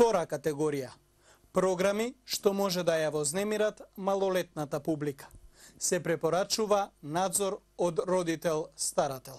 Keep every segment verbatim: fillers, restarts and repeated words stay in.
Втора категорија – програми што може да ја вознемират малолетната публика. Се препорачува надзор од родител-старател.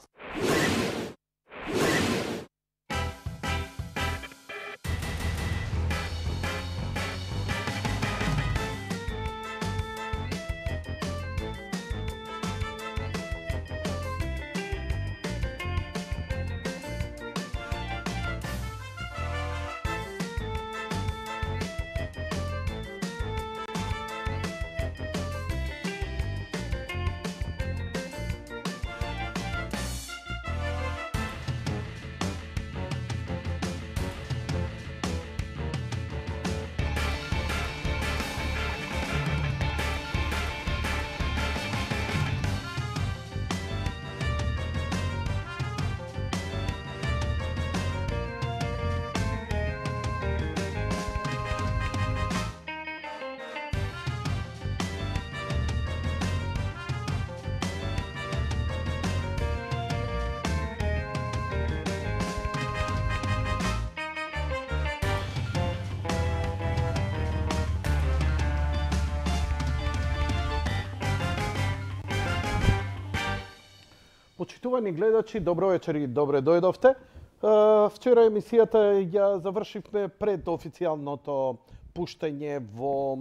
Почитувани гледачи, добро вечер и добре дојдовте. Вчера емисијата ја завршивме пред официјалното пуштање во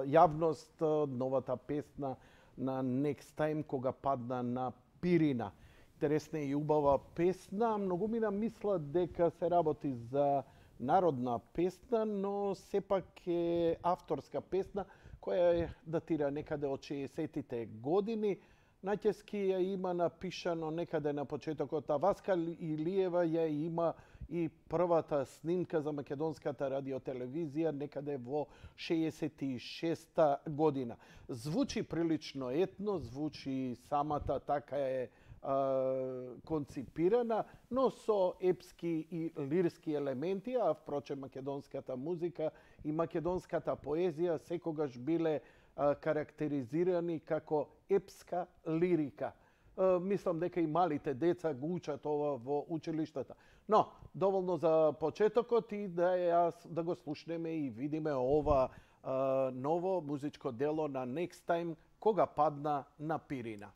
јавност новата песна на Next Time кога падна на Пирина. Интересна и убава песна, многу мина мислат дека се работи за народна песна, но сепак е авторска песна која датира некаде од шеесеттите години. Најчески ја има напишано некаде на почетокот, а Васка Илиева ја има и првата снимка за македонската радиотелевизија некаде во шеесет и шеста година. Звучи прилично етно, звучи самата така е а, конципирана, но со епски и лирски елементи, а впрочем македонската музика и македонската поезија секогаш биле карактеризирани како епска лирика. Мислам дека и малите деца го учат ова во училиштата. Но, доволно за почетокот и да, јас, да го слушнеме и видиме ова а, ново музичко дело на Next Time кога падна на Пирина.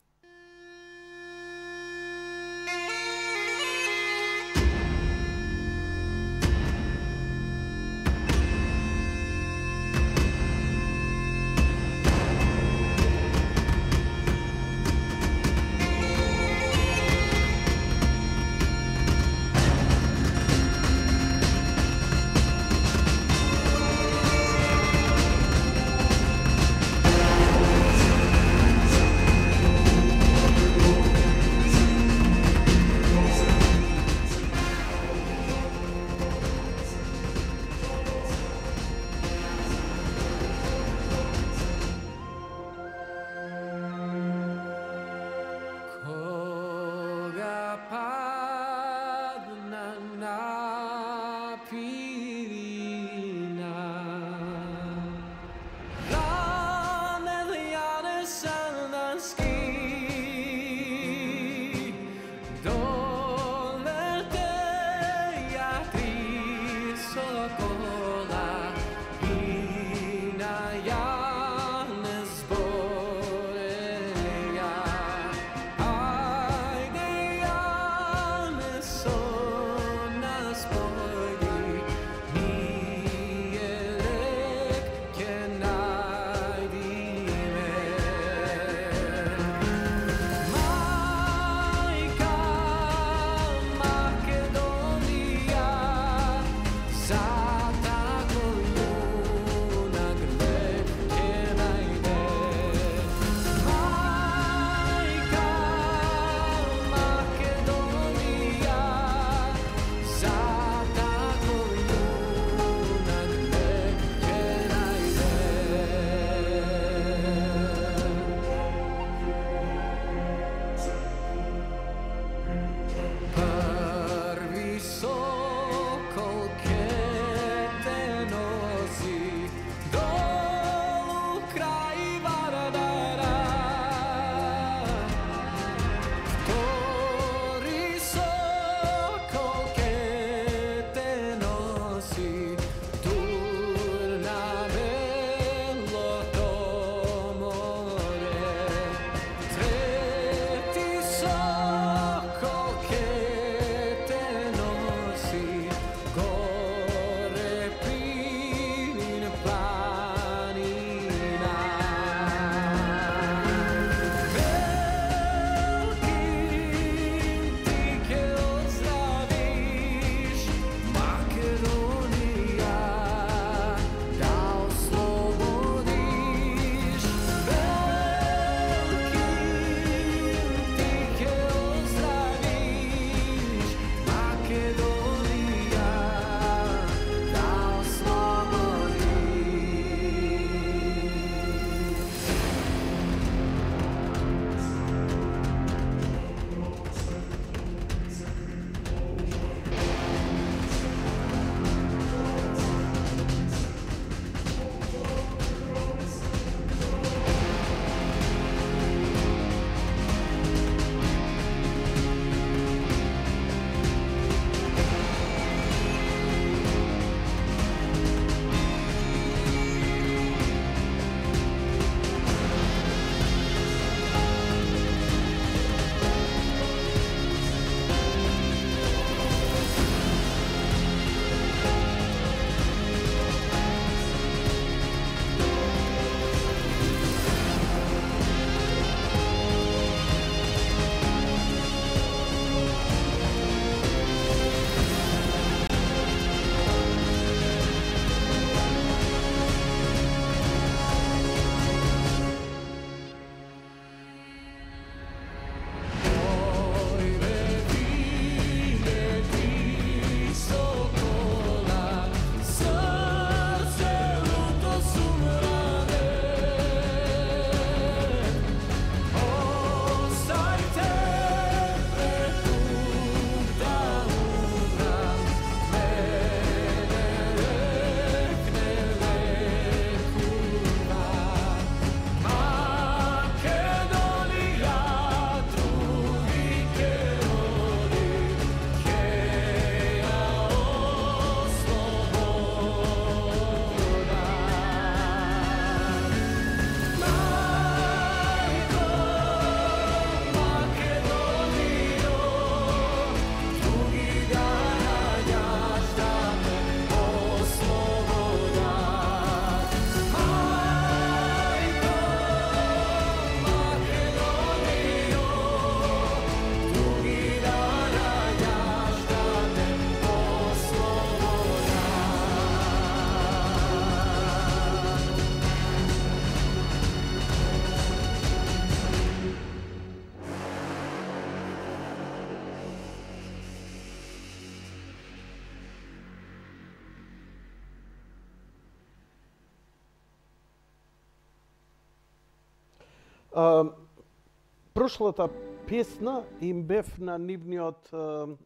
Прошлата песна им бев на нивниот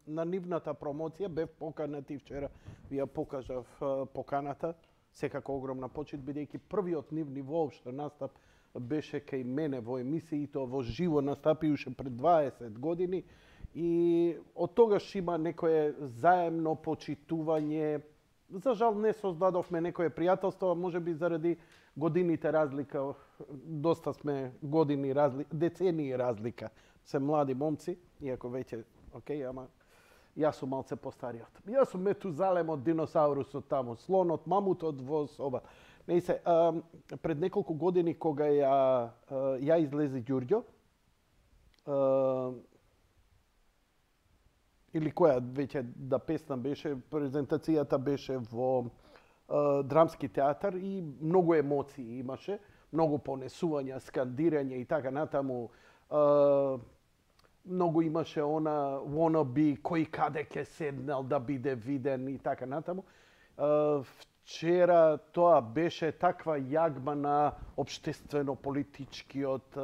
на нивната промоција, бев поканати вчера, ви ја покажав поканата, секако огромна почит, бидејќи првиот нивни воопшто настап беше кај мене во емисија, и тоа во живо настапи уште пред дваесет години, и од тогаш има некое заемно почитување. За жал не создадовме некое пријателство, можеби заради годините разлика, доста сме години разлика, децении разлика. Се млади момци, иако веќе, окей, ама јас сум малце постариот. Јас сум Метузалемот, диносаурусот таму, слонот, мамутот во соба. Не се, а, пред неколку години кога ја, ја излези Ѓурѓо, а, или која веќе да песна беше, презентацијата беше во а, Драмски театар и многу емоции имаше, многу понесувања, скандирање и така натаму. А, многу имаше она wannabe, кој каде ќе седнал да биде виден и така натаму. А, вчера тоа беше таква јагма на општествено-политичкиот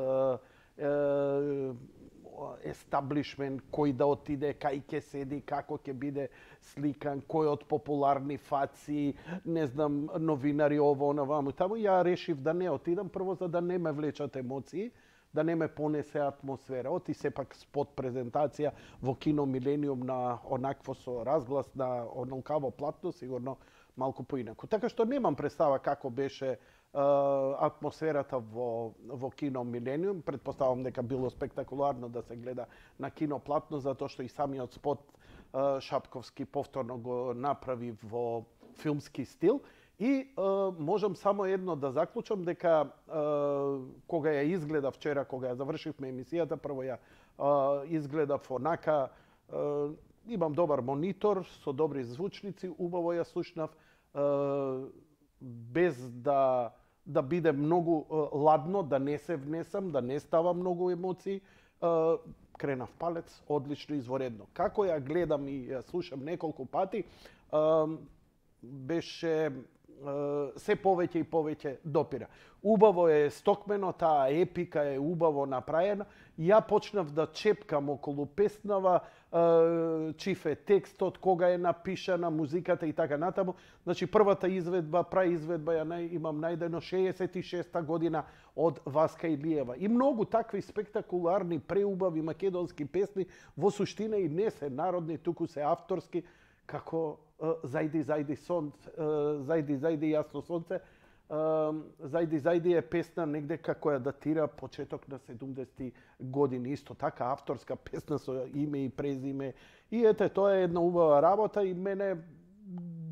естаблишмент, кој да отиде, кај ќе седи, како ќе биде сликан, кој од популарни фаци, не знам, новинари, ово, оно, ваму, таму. Ја решив да не отидам, прво за да не ме влечат емоции, да не ме понесе атмосфера. Оти сепак спот презентација во кино Милениум на онакво со разглас на онолкаво платно, сигурно малку поинаку. Така што немам представа како беше атмосферата во, во кино Милениум. Предпоставам дека било спектакуларно да се гледа на кино платно, затоа што и самиот спот Шапковски повторно го направи во филмски стил. И uh, можам само едно да заклучам, дека uh, кога ја изгледав вчера, кога ја завршивме емисијата, прво ја uh, изгледав онака, uh, имам добар монитор со добри звучници, убаво ја слушнав, uh, без да да биде многу uh, ладно, да не се внесам, да не става многу емоции. Uh, кренав палец, одлично, изворедно. Како ја гледам и ја слушам неколку пати, uh, беше се повеќе и повеќе допира. Убаво е стокмено, таа епика е убаво направена. Ја почнав да чепкам околу песнава, чиф е текстот, кога е напишана, музиката и така натаму. Значи, првата изведба, праизведба ја нај, имам најдено шеесет и шеста година од Васка Илиева. И многу такви спектакуларни, преубави македонски песни, во суштина и не се народни, туку се авторски, како Зајди, зајди сонце, зајди, зајди јасно сонце. Зајди, зајди е песна негде како ја датира почеток на седумдесетти години. Исто така авторска песна со име и презиме. И ете, тоа е една убава работа и мене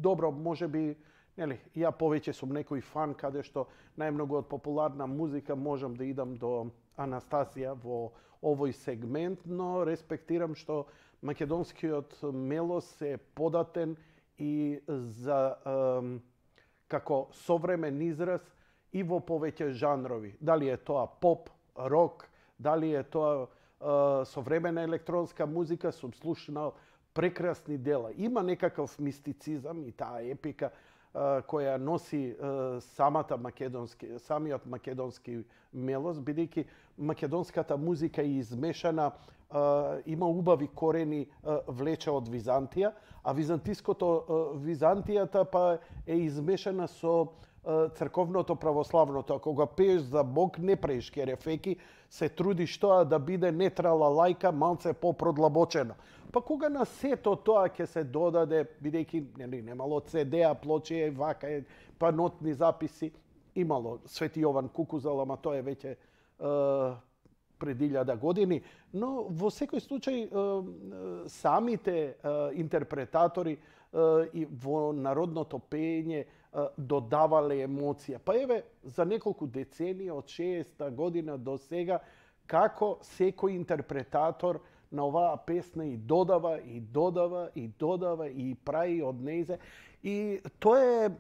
добро, можеби, нели, ја повеќе сум некој фан каде што најмногу од популарна музика можам да идам до Анастасија во овој сегмент, но респектирам што македонскиот мелос е податен и за ем, како современ израз и во повеќе жанрови. Дали е тоа поп, рок, дали е тоа е, современа електронска музика, сум слушнал прекрасни дела. Има некаков мистицизам и таа епика е, која носи е, самата македонски, самиот македонски мелос, бидејќи македонската музика е измешана, Uh, има убави корени, uh, влече од Византија, а византиското uh, Византијата па е измешана со uh, црковното православното. Ако го пееш за Бог, не прееш керефеки, се трудиш тоа да биде нетрала лајка, малце попродлабочено. Па кога на сето тоа ќе се додаде, бидејќи нели немало це де-а, плоче, вака, па нотни записи, имало Свети Јован Кукузал, ама тоа е веќе uh, пред илјада години, но во секој случај самите интерпретатори и во народното пеење додавале емоција. Па еве, за неколку децении од шеесета година до сега, како секој интерпретатор на оваа песна и додава, и додава, и додава, и прави од нејзе. И тоа е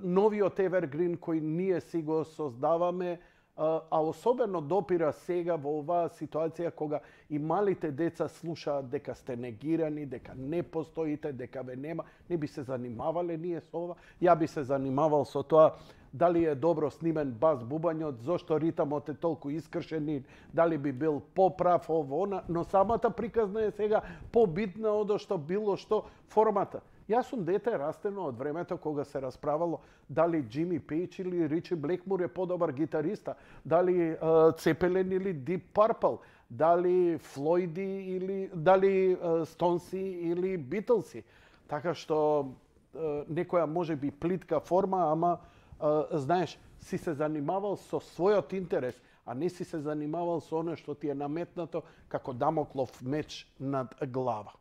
новиот Evergreen кој ние си го создаваме, а особено допира сега во оваа ситуација кога и малите деца слушаат дека сте негирани, дека не постоите, дека ве нема. Не би се занимавале ние со ова. Ја би се занимавал со тоа дали е добро снимен бас бубањот, зошто ритамот е толку искршен, дали би бил поправ ово, она, но самата приказна е сега побитна од што било што формата. Јас сум дете растено од времето кога се расправало дали Джими Пейдж или Ричи Блекмур е подобар гитариста, дали Цепелин или Дип Парпл, дали Флойди или дали Стонси или Битлси. Така што некоја може би плитка форма, ама знаеш, си се занимавал со својот интерес, а не си се занимавал со оно што ти е наметнато како дамоклов меч над глава.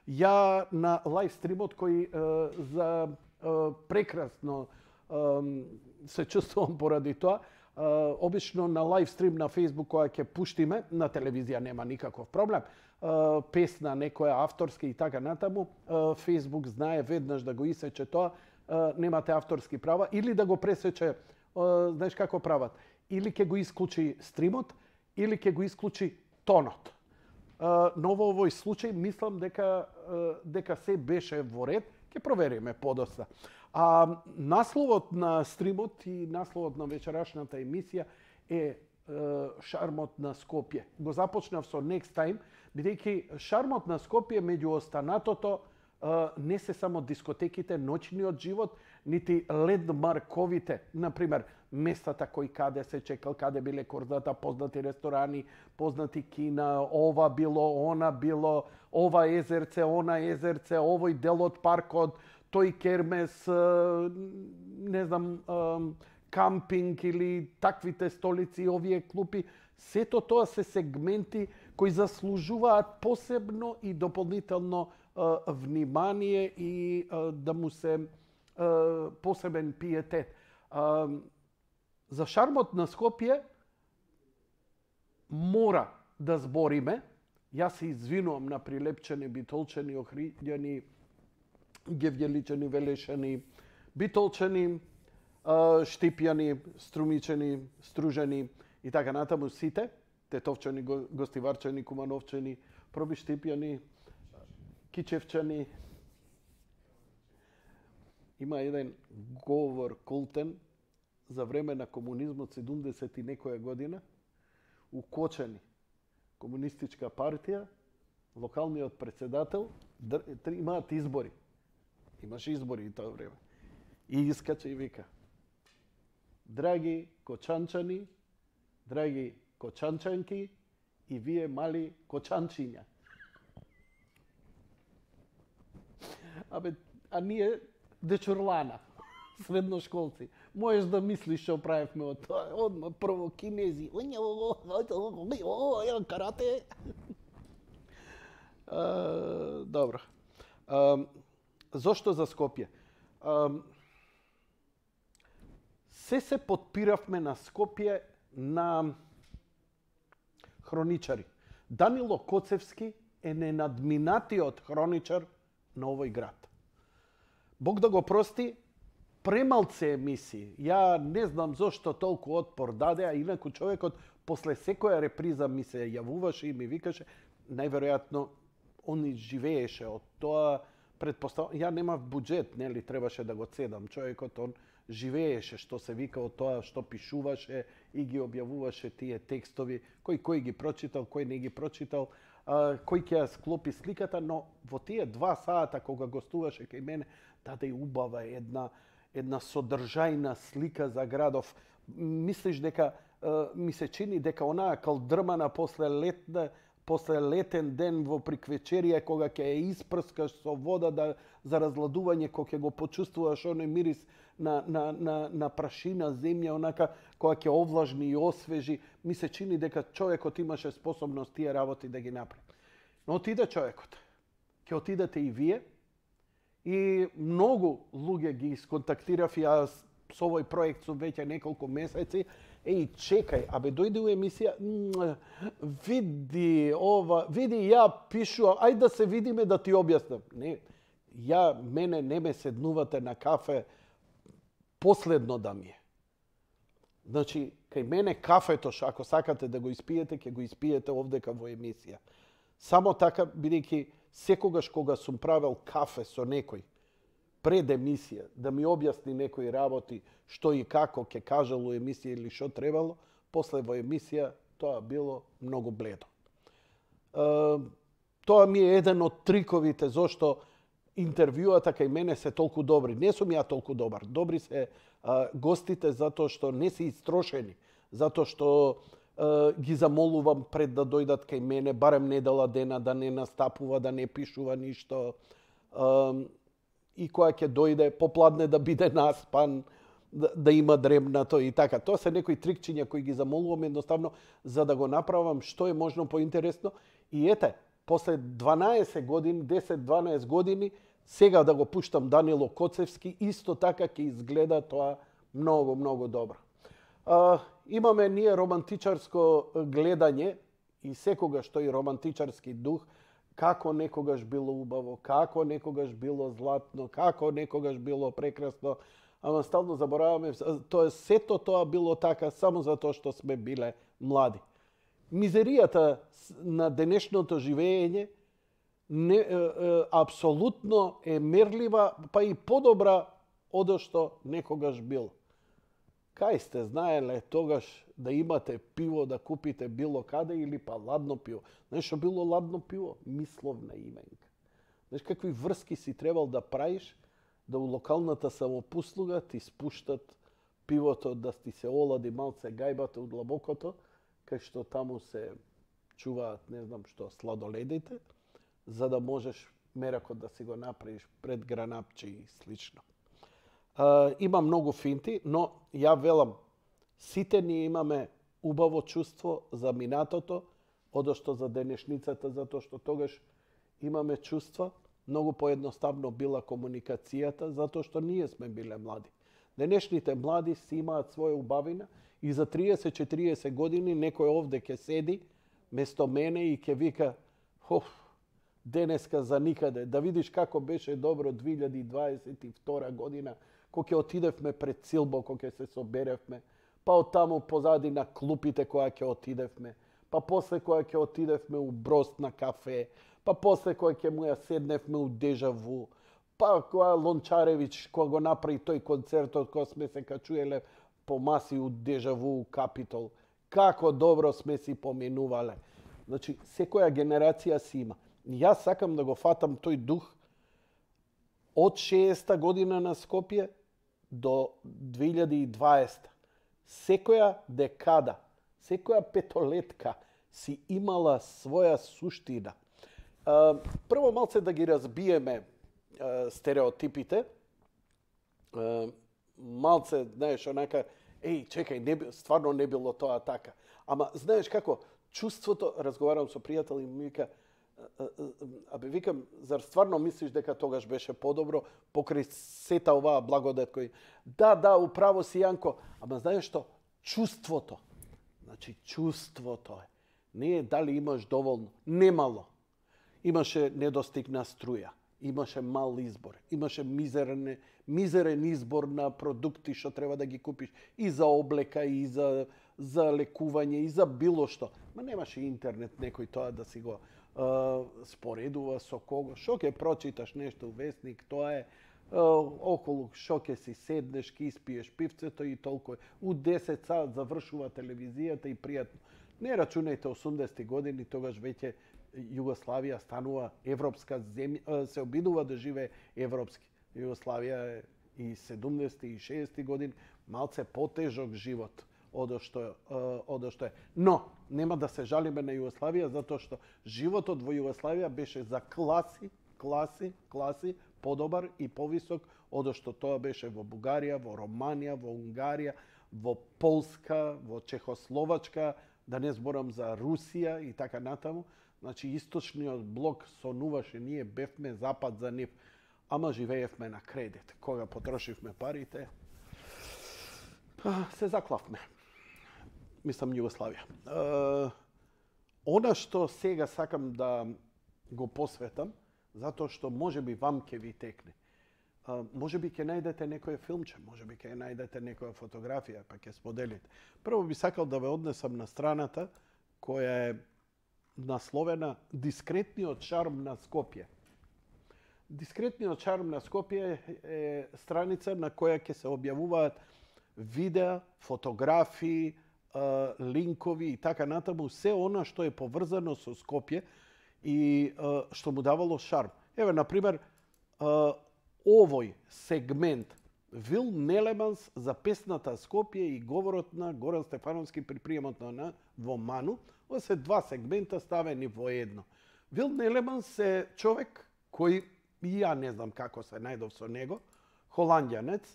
Ја на лайв стримот кој е, за е, прекрасно е, се чувствувам поради тоа, е, обично на лайв стрим на Facebook која ќе пуштиме, на телевизија нема никаков проблем, е, песна некоја авторски и така натаму, е, Facebook знае веднаш да го исече тоа, е, немате авторски права, или да го пресече, е, знаеш како прават, или ќе го исклучи стримот, или ќе го исклучи тонот. Но во овој случај мислам дека дека се беше во ред, ќе провериме подоцна. А насловот на стримот и насловот на вечерашната емисија е шармот на Скопје. Го започнав со Next Time, бидејќи шармот на Скопје меѓу останатото не се само дискотеките, ноќниот живот, нити лендмарковите, например, местата кои каде се чекал, каде биле корзата, познати ресторани, познати кина, ова било, она било, ова езерце, она езерце, овој дел од паркот, тој кермес, не знам, кампинг или таквите столици, овие клупи, сето тоа се сегменти кои заслужуваат посебно и дополнително внимание и да му се посебен пиетет. За шармот на Скопје мора да збориме. Јас се извинувам на прилепчени, битолчени, охриѓани, гевјеличени, велешани, битолчени, штипјани, струмичени, стружени и така натаму сите, тетовчани, гостиварчани, кумановчани, пробиштипјани, кичевчани. Има еден говор култен за време на комунизмот седумдесет и некоја година, у Кочани, комунистичка партија, локалниот председател, имаат избори. Имаше избори и тоа време. И искача и вика: драги кочанчани, драги кочанчанки и вие мали кочанчиња. Абе, а ние дечурлана, средношколци. Можеш да мислиш што правевме од тоа. Одма прво кинези, карате. Добро. Зошто за Скопје? Се се подпиравме на Скопје на хроничари. Данило Коцевски е ненадминатиот хроничар на овој град. Бог да го прости, премалце емисии. Ја не знам зошто толку отпор даде, а инаку човекот после секоја реприза ми се јавуваше и ми викаше, најверојатно он живееше од тоа, предпоставам, ја немав буџет, нели, требаше да го цедам. Човекот он живееше, што се вика, од тоа што пишуваше и ги објавуваше тие текстови, кој кој ги прочитал, кој не ги прочитал, кој ќе ја склопи сликата, но во тие два сата кога гостуваше кај мене, даде убава една една содржајна слика за градов. Мислиш дека ми се чини дека онаа калдрмана после летна после летен ден во приквечерија кога ќе ја испрскаш со вода да за разладување, кога ќе го почувствуваш оној мирис на на на на прашина земја, онака кога ќе овлажни и освежи, ми се чини дека човекот имаше способност тие работи да ги направи. Но отиде човекот. Ќе отидете и вие. И многу луѓе ги исконтактирав, јас со овој проект сум веќе неколку месеци. Еј, чекај, абе дојде у емисија, види ова, види ја пишувам, ајде да се видиме да ти објаснам. Не, ја, мене не ме седнувате на кафе последно да ми е. Значи, Кај мене кафето, ако сакате да го испиете, ќе го испиете овдека во емисија. Само така, бидејќи секогаш кога сум правел кафе со некој, пред емисија, да ми објасни некои работи, што и како ќе кажал у емисија или што требало, после во емисија тоа било многу бледо. Uh, тоа ми е еден од триковите зошто интервјуата кај мене се толку добри. Не сум ја толку добар. Добри се uh, гостите затоа што не се истрошени, затоа што uh, ги замолувам пред да дојдат кај мене, барем недела дена да не настапува, да не пишува ништо. Uh, и која ќе дојде попладне да биде наспан, да, да има дремнато и така. Тоа се некои трикчиња кои ги замолувам едноставно за да го направам што е можно поинтересно. И ете, после дванаесет години, десет-дванаесет години, сега да го пуштам Данило Коцевски, исто така ќе изгледа тоа многу, многу добро. А, имаме ние романтичарско гледање и секогаш тој романтичарски дух, како некогаш било убаво, како некогаш било златно, како некогаш било прекрасно, ама стално забораваме, тоа сето тоа било така само затоа што сме биле млади. Мизеријата на денешното живење не, е, е, апсолутно е мерлива, па и подобра од што некогаш било. Кај сте знаеле тогаш да имате пиво да купите било каде или па ладно пиво? Знаеш што било ладно пиво? Мисловна именка. Знаеш какви врски си требал да правиш да у локалната самопуслуга ти спуштат пивото да ти се олади малце гајбата од длабокото, кај што таму се чуваат, не знам што, сладоледите, за да можеш меракот да си го направиш пред гранапче и слично. Uh, има многу финти, но ја велам, сите ние имаме убаво чувство за минатото, одошто за денешницата, затоа што тогаш имаме чувства, многу поедноставно била комуникацијата, затоа што ние сме биле млади. Денешните млади си имаат своја убавина и за триесет-четириесет години некој овде ќе седи место мене и ќе вика, хоф, денеска за никаде, да видиш како беше добро две илјади дваесет и втора година, кога ќе отидевме пред Силбо, кога ќе се соберевме, па од таму позади на клупите која ќе отидевме, па после која ќе отидевме у Брост на кафе, па после која ќе му ја седневме у Дежаву, па која Лончаревич, која го направи тој концертот, која сме се качуеле по маси у Дежаву, у Капитол. Како добро сме си поминувале. Значи, секоја генерација си има. Јас сакам да го фатам тој дух од шеесета година на Скопје до две илјади и дваесета. Секоја декада, секоја петолетка си имала своја суштина. Прво малце да ги разбиеме стереотипите. Малце, знаеш, онака, еј, чекај, не, стварно не било тоа така. Ама, знаеш како, чувството, разговарам со пријател и ми вика, абе, викам, зар стварно мислиш дека тогаш беше подобро, покрај сета оваа благодат кој... Да, да, управо си, Јанко, ама знаеш што? Чувството. Значи, чувството е. Не е дали имаш доволно. Немало. Имаше недостиг на струја. Имаше мал избор. Имаше мизерен, мизерен избор на продукти што треба да ги купиш. И за облека, и за, за лекување, и за било што. Ма немаше интернет некој тоа да си го uh, споредува со кого. Шо ќе прочиташ нешто у весник, тоа е uh, околу шо ќе си седнеш, ќе испиеш пивцето и толку. У десет саат завршува телевизијата и пријатно. Не рачунајте осумдесети години, тогаш веќе Југославија станува европска земја, се обидува да живее европски. Југославија е и седумдесети и шеесети години малце потежок живот од што од што е. Но нема да се жалиме на Југославија затоа што животот во Југославија беше за класи, класи, класи подобар и повисок од што тоа беше во Бугарија, во Романија, во Унгарија, во Полска, во Чехословачка, да не зборам за Русија и така натаму. Значи, источниот блок сонуваше, ние бевме запад за нив, ама живеевме на кредит. Кога потрошивме парите, се заклавме. Мислам, Југославија. Она што сега сакам да го посветам, затоа што може би вам ќе ви текне. може би ќе најдете некој филмче, може би ќе најдете некоја фотографија, па ќе споделите. Прво би сакал да ве однесам на страната која е насловена Дискретниот шарм на Скопје. Дискретниот шарм на Скопје е страница на која ќе се објавуваат видеа, фотографии, линкови и така натаму, се она што е поврзано со Скопје и што му давало шарм. Еве, например, овој сегмент Вил Нелеманс за песната Скопје и говорот на Горан Стефановски при приемот на во Ману. Ова се два сегмента ставени во едно. Вил Нелеманс е човек кој, и ја не знам како се најдов со него, холандјанец,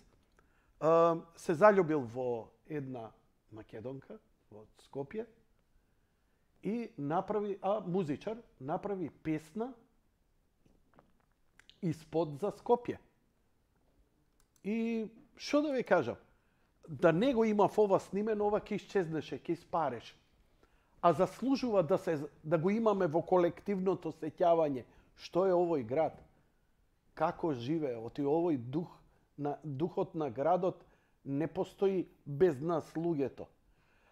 се заљубил во една македонка во Скопје и направи, а музичар, направи песна испод за Скопје. И што да ви кажам, да не го имав ова снимено, ова ќе исчезнеше, ќе испареше. А заслужува да се да го имаме во колективното сеќавање што е овој град, како живее, оти овој дух на духот на градот не постои без нас луѓето.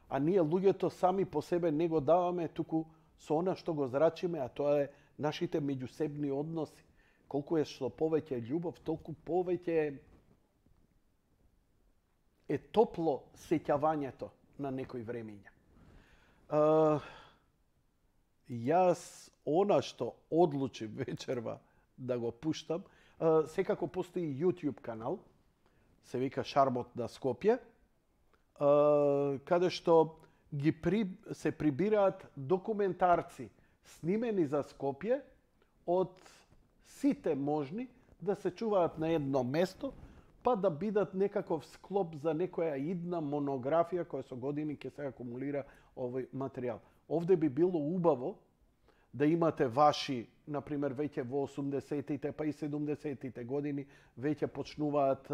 А ние луѓето сами по себе не го даваме, туку со она што го зрачиме, а тоа е нашите меѓусебни односи. Колку е што повеќе љубов, толку повеќе е топло сеќавањето на некои времиња. Uh, јас она што одлучив вечерва да го пуштам, uh, секако постои YouTube канал, се вика Шармот на Скопје, uh, каде што ги при, се прибираат документарци снимени за Скопје од сите можни да се чуваат на едно место, па да бидат некаков склоп за некоја идна монографија која со години ќе се акумулира овој материјал. Овде би било убаво да имате ваши, например, веќе во осумдесетите па и седумдесетите години веќе почнуваат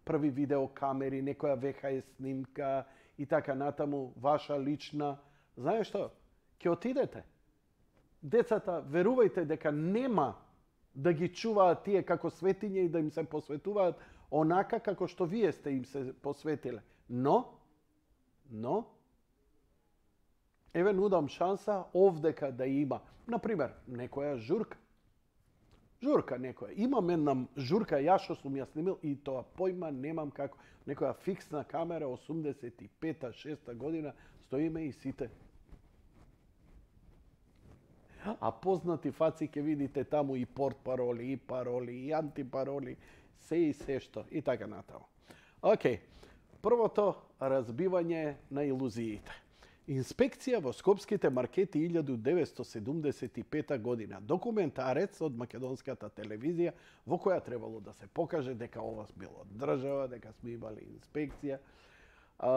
први видеокамери, некоја ви ес ес снимка и така натаму, ваша лична. Знаеш што? Ќе отидете. Децата, верувајте дека нема да ги чуваат тие како светиња и да им се посветуваат онака како што вие сте им се посветиле. Но, но, еве нудам шанса овдека да има, например, некоја журка. Журка некоја. Имам една журка, ја што сум ја снимил и тоа појма немам како. Некоја фиксна камера, осумдесет и пета шеста година, стоиме и сите. А познати фаци ќе видите таму и портпароли, и пароли, и антипароли, се и се што, и така натаму. Океј, првото разбивање на илузиите. Инспекција во скопските маркети илјаду деветстотини седумдесет и пета година. Документарец од македонската телевизија во која требало да се покаже дека ова било држава, дека сме имали инспекција. А,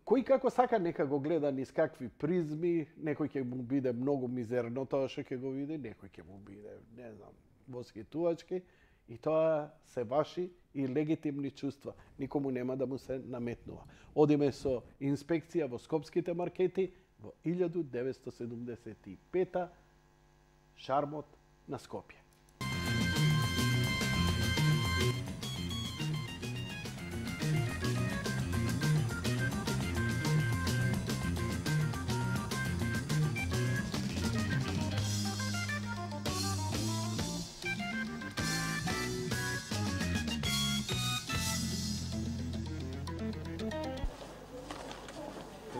кој како сака нека го гледа низ какви призми, некој ќе му биде многу мизерно тоа што ќе го види, некој ќе му биде, не знам, воскитувачки. И тоа се ваши и легитимни чувства. Никому нема да му се наметнува. Одиме со инспекција во скопските маркети во илјаду деветстотини седумдесет и пета Шармот на Скопје.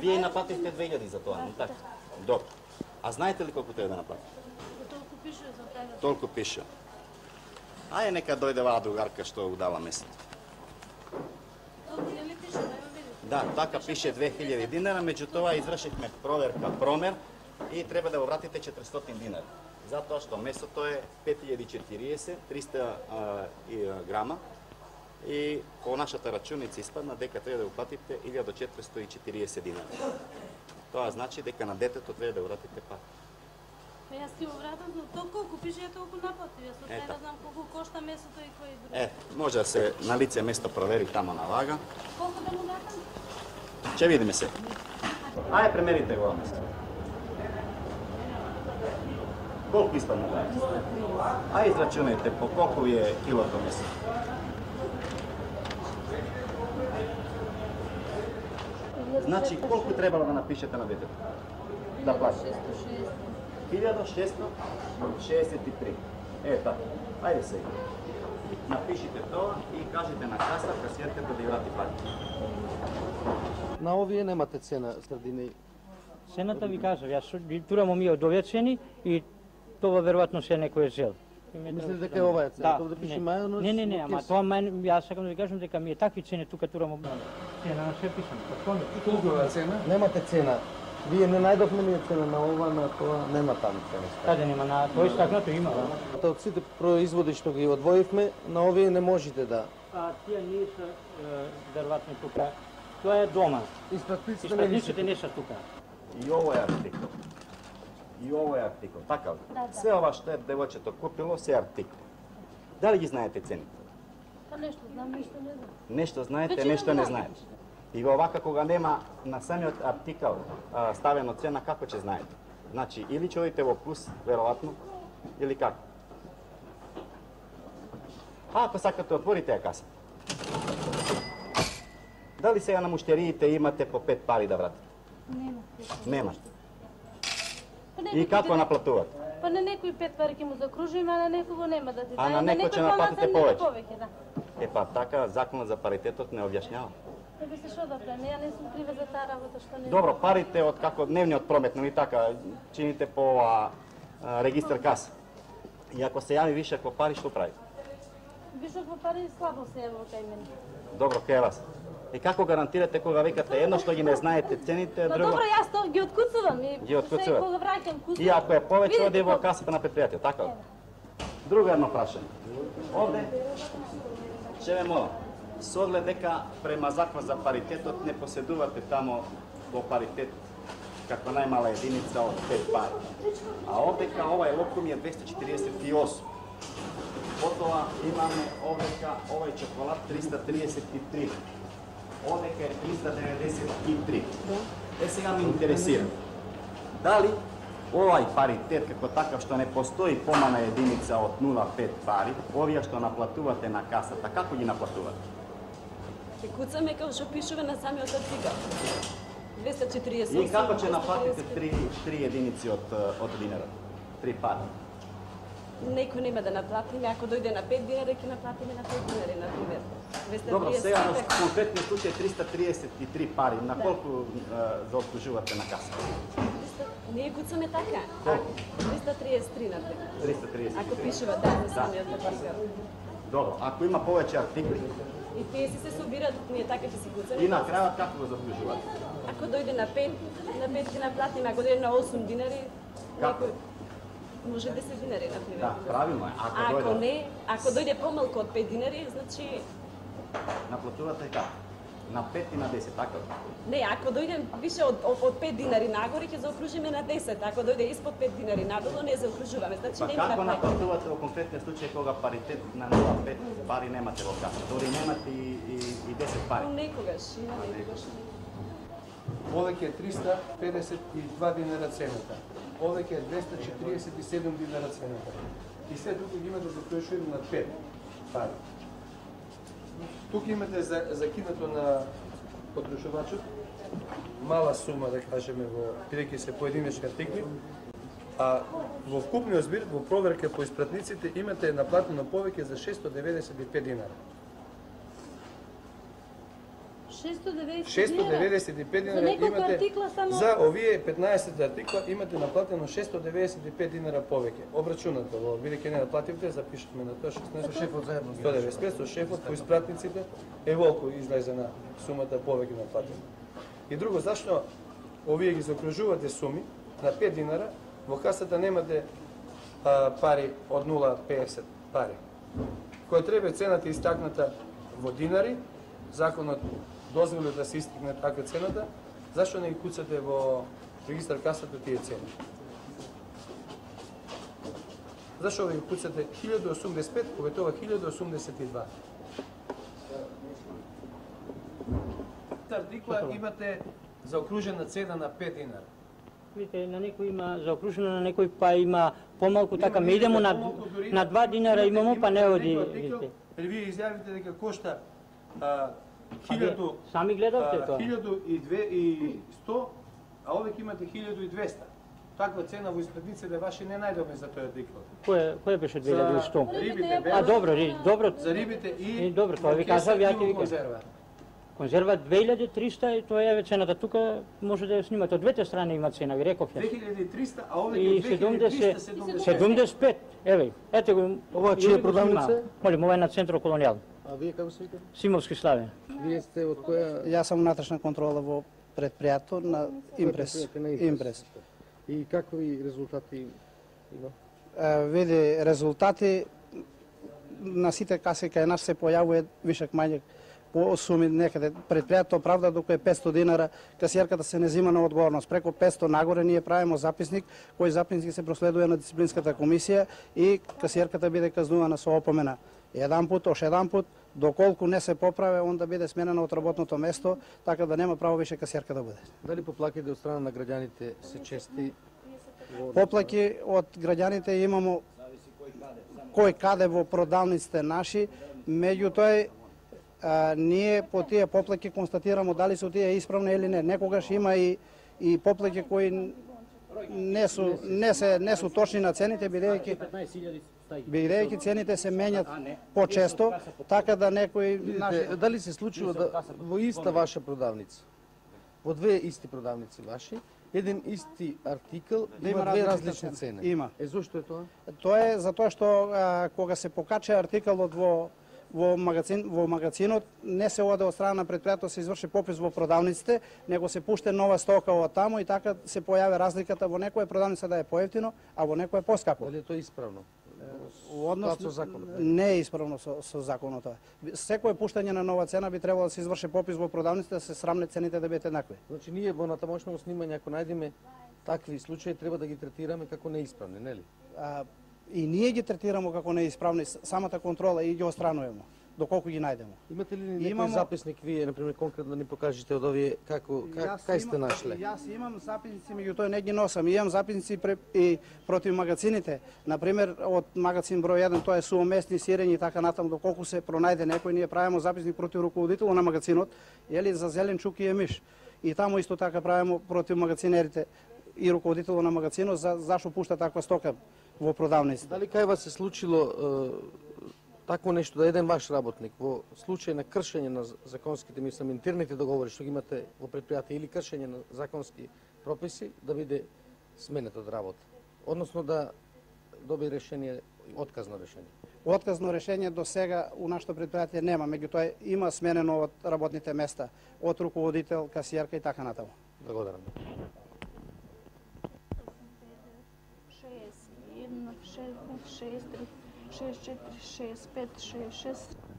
Вие наплативте две илјади за тоа, не така? Добро. А знаете ли колку треба да наплатите? Толку пише за тебе. Толку пише. Ајде нека дојде ваа другарка што удава месец. Толку не ли пише, да ја видите? Да, така пише две илјади динара, меѓутоа извршивме проверка, промер и треба да го вратите четиристотини динара. Затоа што месото е пет илјади и четириесет, триста грама. И по нашата рачуница испадна дека треба да го платите илјада четиристотини и четириесет динара. Тоа значи дека на детето треба да го вратите пак. Па јас ти го вратам, но толку колку пише, ја толку наплатив. Јас още да знам колку кошта месото и кој друг. Е, може да се на лице место провери тамо на вага. Колку да му вратам? Ќе видиме се. Ајде премерите го место. Колку испадна главица? А израчунајте по колку е килото месо. Значи, колку требало да напишете на детето? Да плати? hiljadu šesto šezdeset tri. Е, така. Ајде сега. Напишите тоа и кажете на каса касиерката да ја врати пари. На овие немате цена средини. Цената ви кажав, јас ги турам ми одовечени и тоа веројатно се некој жел. Мислите дека е ова е цена? Да, да пише не. мајонез? Не, не, не, ама тоа мај, јас сакам да ви кажам дека ми е такви цени тука турам цена на се пишам. Колку е цена? Немате цена. Вие не најдовме ни цена на ова, на тоа, нема таму цена. Каде нема, на тој стакнато има, да. Од сите производи што ги одвоивме, на овие не можете да. А тие не се веројатно тука. Тоа е дома. Испратниците не Испратниците не се тука. И ово е артикол. И ово е артикол. Така ли? Да, да. Се ова што е девојчето купило, се е артикол. Дали ги знаете цените? Па нешто знам, нешто не знам. Нешто знаете, Веќе нешто не не знаете. И во овака кога нема на самиот артикал а, ставено цена, како ќе знаете? Значи, или ќе одите во плюс, веројатно, или како? А ако сакате, отворите ја каса. Дали сега на муштериите имате по пет пари да вратите? Нема. Нема. Па И некој како ќе- наплатувате? Па на некој пет пари ќе му закружиме, а на некого нема да ти А даде. на некој некој ќе наплатите помалку, на некој повеќе. повеќе, да. Е па така, законот за паритетот не објаснjava. Не би се шо да правим, ја не сум крива за таа работа што не. Добро, парите од како дневниот промет, нели така, чините по а, а, регистар каса. И ако се јави вишак во пари, што прави? Вишок во пари слабо се ево кај мене. Добро, кај вас. И како гарантирате кога викате едно што ги не знаете цените, Па друго? добро, јас тоа ги откуцувам и Ги откуцувате? Се кога враќам куцувам. И ако е повеќе, Видите оди во колку- касата на предпријатие, така ли? Друго едно прашање. Овде, ќе ве молам, со оглед дека према закон за паритетот не поседувате тамо во паритет како најмала единица од пет пари. А овдека овај локум е двеста четиридесет и осум. Потоа имаме овдека овај чоколад триста триесет и три. Овдека е триста деветдесет и три. Е сега ме интересира. Дали овај паритет како такав што не постои помална единица од нула целу пет пари, овие што наплатувате на касата, како ги наплатувате? Ќе куцаме како што пишува на самиот артикал. двеста четиридесет и осум. И како ќе наплатите три, три единици од, од динарот? Три пари. Некој нема да наплатиме, ако дојде на пет динари, ќе наплатиме на пет динари, на пример. Добро, сега на конкретниот случај триста триесет и три пари, на колку да. заобслужувате на каса? Ние куцаме така. Колку? триста триесет и три на пример. триста триесет и три. Ако пишува да на самиот артикал. Добро, ако има повеќе артикли, И тие си се собираат, ние така ќе си куцаме. и на крајот како го заобслужувате? Ако дојде на пет, на пет ќе наплатиме, ако дојде на осум динари, Како? некој може десет динари, на пример. Да, правилно е. Ако, Ако дојде, не, ако дојде помалку од пет динари, значи наплатувате како? На пет и на десет, така ли? не, ако дојде више од, од, од пет динари нагоре, ќе заокружиме на десет. Ако дојде испод пет динари надолу, не заокружуваме. Значи Па нема како да прави. наплатувате во конкретниот случај кога паритет на нула целу пет пари немате во каса? Дори немате и, и, и десет пари. Но некогаш, има некогаш. Овеќе е триста педесет и два динара цената. Овеќе е двеста четиридесет и седум динара цената. И се тука ги имате заклучено на пет пари. Тука имате за, закинато на потрушувачот мала сума, да кажеме, во бидејќи се поединечни артикли, а во вкупниот збир, во проверка по испратниците, имате наплатено повеќе за шестоста деветдесет и пет динара. шестоста деветдесет шестоста деветдесет и пет динара неколку имате артикла само- за овие петнаесет артикла имате наплатено шестоста деветдесет и пет динара повеќе. Обрачунато, во бидејќи не наплативте, запишуваме на тоа шеснаесет. Со шефот заедно ги сто деветдесет и пет со шефот по испратниците е волку излезе на сумата повеќе наплатено. И друго, зашто овие ги заокружувате суми на пет динара, во касата немате а, пари од нула целу педесет пари. Која треба цената истакната во динари, законот дозволи да се истигне така цената, зашто не ги куцате во регистар касата тие цени? Зашто ви куцате илјаду осумдесет и пет, кога тоа илјаду осумдесет и два? Артикла имате заокружена цена на пет динара. Видите, на некој има заокружено, на некој па има помалку, така ме идемо на на два динара имамо, па не оди. Вие изјавите дека кошта хилјаду Сами гледавте тоа. хилјаду и сто, а овде имате хилјаду и двесте. Таква цена во испредниците ваши не најдовме за тој артикл. Кој кој беше две илјади и сто? Рибите, А добро, ри, добро. за рибите и И добро, тоа ви кажав, ја ти викам. конзерва. Конзерва две илјади и триста и тоа е цената. Тука може да ја снимате. Од двете страни има цена, ви реков две јас. хиљади и триста, а овде И е две хиљади триста седумдесет. седумдесет и пет. Еве, ете го. Ова чија е продавница? Молим, ова е на Центро Колонијал. А вие како се викате? Симовски Славе. Вие сте од која? Јас сум внатрешна контрола во предпријатето на Импрес. Предпријатие на Импрес. И какви резултати има? Е, види, резултати на сите каси кај нас се појавува вишак мање по суми некаде. Предпријатето правда докато е петсто динара, касиерката се не зима на одговорност. Преко петсто нагоре ние правиме записник, кој записник се проследува на дисциплинската комисија и касиерката биде казнувана со опомена. Еден пут, ош еден пут, доколку не се поправе, онда биде сменена од работното место, така да нема право више касиерка да биде. Дали поплаките од страна на граѓаните се чести? Поплаки од граѓаните имамо кој каде во продавниците наши, меѓутоа а, ние по тие поплаки констатирамо дали се тие исправни или не. Некогаш има и и поплаки кои не су не се не су точни на цените, бидејќи бидејќи цените се менјат почесто, така да некои наши... Видите, дали се случува да во иста ваша продавница, во две исти продавници ваши, еден исти артикл Да има има две различна различни цена. цени? Има. Е, зошто е тоа? Тоа е затоа што а, кога се покача артикалот во во магазин во магазинот не се оде од страна на предпријатето, се изврши попис во продавниците, него се пуште нова стока од таму и така се појави разликата, во некоја продавница да е поевтино, а во некоја поскапо. Дали е тоа исправно? Во однос со законот? не е исправно со, со законот тоа. Секое пуштање на нова цена би требало да се изврши попис во продавниците, да се срамне цените да бидат еднакви. Значи ние во натамошно снимање ако најдеме такви случаи треба да ги третираме како неисправни, нели? А, и ние ги третираме како неисправни, самата контрола и ги отстрануваме доколку ги најдеме. Имате ли некој Имамо- записник вие, например, конкретно да ни покажете од овие како как, кај сте имам- нашле? Јас имам записници, меѓутоа не ги носам. Имам записници пре, и против магазините. Например, од магазин број еден, тоа е суоместни сирења и така натаму, доколку се пронајде некој, ние правиме записник против руководителот на магазинот, или за зеленчук и емиш. И таму исто така правиме против магазинерите и руководителот на магазинот за зашо пушта таква стока во продавниците. Дали кај вас се случило е, такво нешто да еден ваш работник во случај на кршење на законските, мислам, интерните договори што ги имате во предпријатие или кршење на законски прописи да биде сменет од работа, односно да доби решение, отказно решение? Отказно решение до сега у нашето предпријатие нема, меѓутоа има сменено од работните места, од руководител, касиерка и така натаму. Благодарам.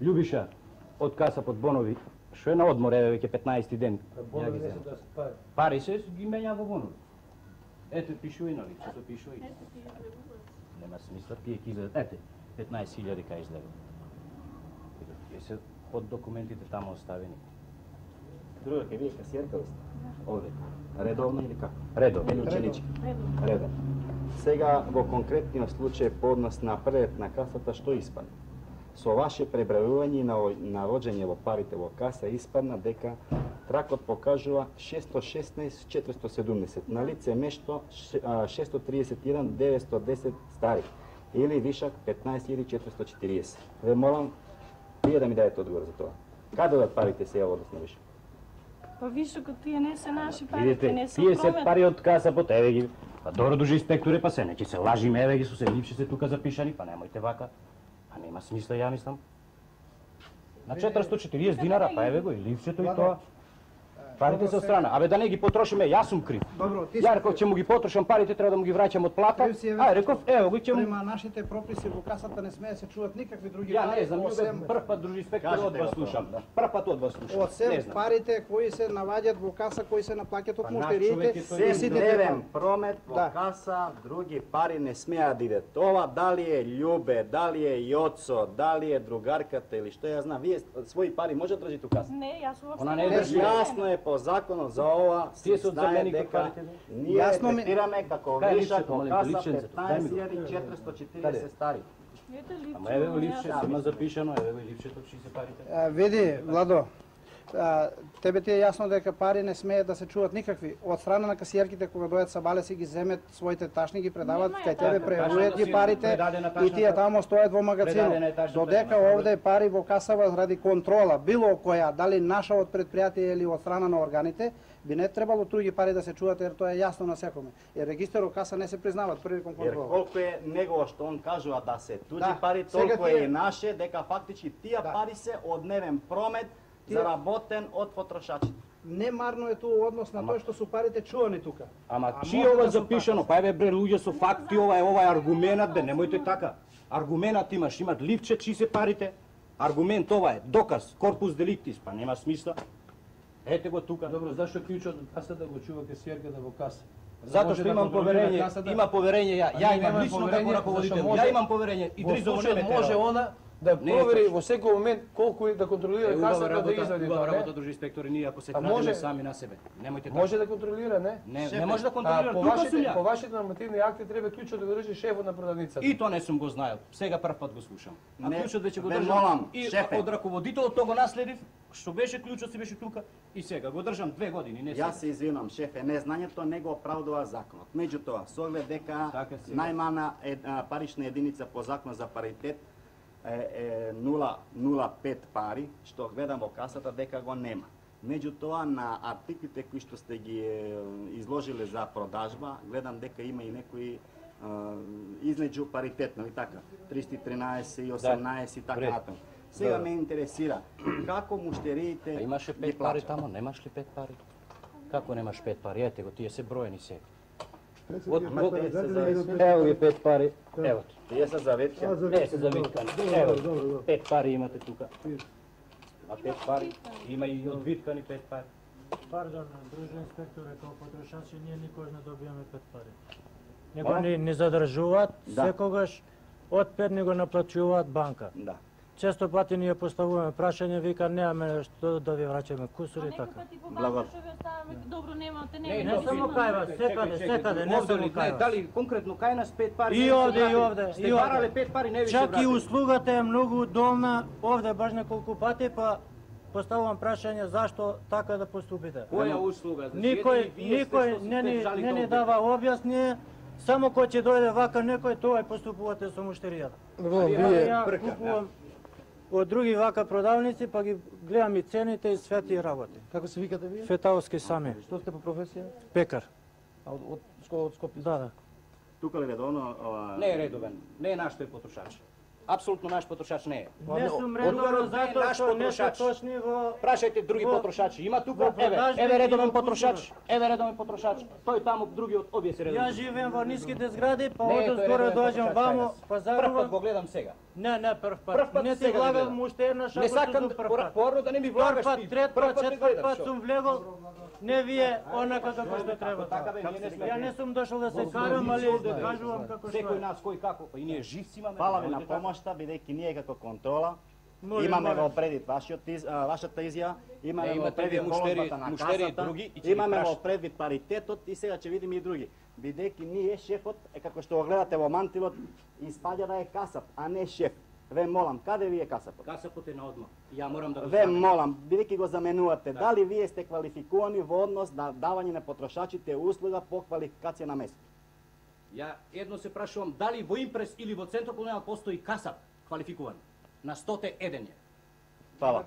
Љубиша, од каса под бонови, што е на одмор, еве веќе петнаести ден. Ја ги земам. Пари се ги менја во бонови. Ете, пишува и нови, што пишува и. Нема смисла, тие ќе излезат. Ете, петнаесет илјади кај излега. Тие се од документите таму оставени. Друга, ке вие касиерка ли сте? Овде. Редовно или како? Редовно. Или ученички? Редовно. Сега, во конкретниот случај по однос на пред на касата, што испадна? Со ваше пребројување и навоѓање во парите во каса испадна дека тракот покажува шестстотини и шеснаесет четиристотини и седумдесет, на лице место шестстотини и триесет и еден деветстотини и десет стари, или вишак петнаесет илјади четиристотини и четириесет. Ве молам, вие да ми дадете одговор за тоа. Каде одат парите сега во однос на вишак? Па вишокот тие не се наши пари, Видите, не се тие се промен. пари од каса под еве ги. Па добро дужи инспекторе, па се не ќе се лажиме, еве ги со се липши се тука запишани, па немојте вака. Па нема смисла, ја мислам. На четиристотини и четириесет динара, па еве го и ливчето и тоа. Парите се од страна. Абе да не ги потрошиме, јас сум крив. Добро, ти Ја реков ќе му ги потрошам парите, треба да му ги враќам од плата. Ај реков, ево го ќе му. Према нашите прописи во касата не смее да се чуват никакви други Ја пари, не знам, осем- љубе, прв пат дружи инспектор од Кажете вас го тоа, слушам. да. Прв пат од вас слушам. Не Осем знам. парите кои се наваѓаат во каса, кои се наплаќаат од Па наш муштериите, човек е тој. и Сем сите дневен таму. промет во Да. каса, други пари не смеа да идат. Ова дали е Љубе, дали е Јоцо, дали е другарката или што ја знам, вие своји пари може да држите у каса? Не, јас уопште Она не не држи. знам. Јасно е по законот за ова Тие се се од знае заменик дека парите. ние Јасно ми- третираме како Кај е вишак липсето, во молим, каса липсенцето? Дај ми го. петнаесет илјади четиристотини и четириесет стари. Ете липче. Ама еве го липчето, има запишано, еве го липчето, чии се парите. А, види, Владо, а, тебе ти е јасно дека пари не смеат да се чуват никакви. Од страна на касиерките кога дојдат са бале си ги земет своите ташни, ги предават Нема кај е тебе, така. превојат ги Ташната си парите предадена и тие ташната. тамо стојат во магазинот. Предадена е ташната, Додека нема овде пари во касава заради контрола, било која, дали наша од предпријатие или од страна на органите, би не требало туѓи пари да се чуват, ер тоа е јасно на секоме. Jer регистерот каса не се признават приликом Jer контрола. колку е негово што он кажува да се туѓи Да, пари, сега толку тие- е и наше, дека фактички тие Да. пари се од дневен промет Тие- заработен од потрошачите. Немарно е тоа однос на тоа што су парите чувани тука. Ама А чи може ова да се запишано? Па еве бре луѓе со факти, ова е ова е аргументот, бе, немојте така. Аргументот имаш, имат ливче, чи се парите. Аргумент ова е, доказ, корпус деликтис, па нема смисла. Ете го тука. Добро, зашто клучот од касата го чува касиерката во каса? Затоа Може што да имам контролира поверење, касата? има поверење ја, А ја ние имам немаме лично поверење, како раководител. зашто може- Ја имам поверење и Во Дризо случајот не може она да Не е провери точно. во секој момент колку е да контролира Е, убава касата да работа, извади убава тоа, работа, не? дружи инспектори, ние ако се А крадеме може- сами на себе. Немојте така. Може да контролира, не? Не, Шефе, не може да А контролира, по тука сум вашите, ја. по вашите нормативни акти треба клучот да го држи шефот на продавницата. И тоа не сум го знаел. Сега прв пат го слушам. А Не, клучот веќе го бе, држам. молам, И шефе. од раководителот тоа го наследив, што беше клучот си беше тука и сега го држам две години, не сега. Јас се извинувам, шефе, незнањето не го оправдува законот. Меѓутоа, со оглед дека Така си. најмана е, а, парична единица по закон за паритет е, е нула нула пет пари, што гледам во касата дека го нема. Меѓутоа, на артиклите кои што сте ги е, изложиле за продажба, гледам дека има и некои а, излеđу паритет, нали така? триста и тринаесет и осемнаесет и така Вред. натаму. Сега Да. ме интересира како муштериите А имаше ги пет пари плаќаат? тамо, немаш ли пет пари? Како немаш пет пари? Ете го, тие се броени се. Ама те се за- Ево ги пет пари. Ево ти. Тие се заветки. Не се завиткани. Ево, пет пари имате тука. А пет пари? Има и одвиткани пет пари. Пардон, дружен инспекторе, како потрошачи ние никош не добиваме пет пари. Моля? Некој ни, ни задржуваат, Да. секогаш од пет ни го наплачуваат банка. Да. Често пати ние поставуваме прашање, вика немаме што да ви враќаме кусури и Некој така. пати по Благо- банка што ви оставаме, добро немате, Не, не, не само кај вас, секаде, секаде, не Овде само ли, кај не, вас. дали конкретно кај нас пет пари? И не ви се овде, и вратили? овде, Сте и овде. барале пет пари, не ви се Чак и вратили. услугата е многу долна, овде баш неколку пати, па поставувам прашање зашто така да поступите. Која услуга? Значи, Никој, ете и вие сте никој што се не ни, жалите не ни овде. дава објасние, само кој ќе дојде вака некој, тоа и поступувате со муштеријата. Во, Ја, вие ја купувам од други вака продавници, па ги гледам и цените и све тие работи. како се викате вие? Фетауски сами, Што сте по професија? пекар. А од од школа од Скопје? Да, да. Тука ли редовно ова Не е редовен, не е наш тој потрошач. Апсолутно наш потрошач не е. Не сум Одговорот редовно не е затоа наш што не се потрошач. точни во... Прашајте други Во- потрошачи. Има во тука, еве, продажби еве и редовен во потрошач, еве редовен потрошач. Тој таму другиот обје се Ја редовен. живеем во ниските згради, па Не е од тој скоро редовен доаѓам потрошач вамо, кај нас. па Прв пат загубам. го гледам сега. Не, не, прв пат. Прв пат Не ти сега го влагам гледам. уште една шапка. Не сакам порно да не ми Втор влагаш пат, ти. трет Прв пат, пат не четврт гледам, пат шо? сум влегол. Не вие онака како што треба. Така бе, ние не сме. Ја не сум дошол да се карам, али да кажувам како што Секој е. нас кој како, па и ние живци имаме. Фала ви на немојте така. помошта, бидејќи ние како контрола Молим, имаме молим. во предвид вашиот из, а, вашата изјава, имаме Не, во имате вие предвид муштери- голозбата на муштери касата, други и ќе ги имаме во прашате. предвид паритетот и сега ќе видиме и други. Бидејќи ние шефот е како што го гледате во мантилот, испаѓа да е касап, а не шеф. Ве молам, каде ви е касапот? Касапот е на одмор. Ја морам да го Ве ставам. молам, бидејќи го заменувате, дали вие сте квалификувани во однос на давање на потрошачите услуга по квалификација на место? Ја едно се прашувам дали во Импрес или во Центар колонијал постои касап квалификуван. На сто еден е. Фала.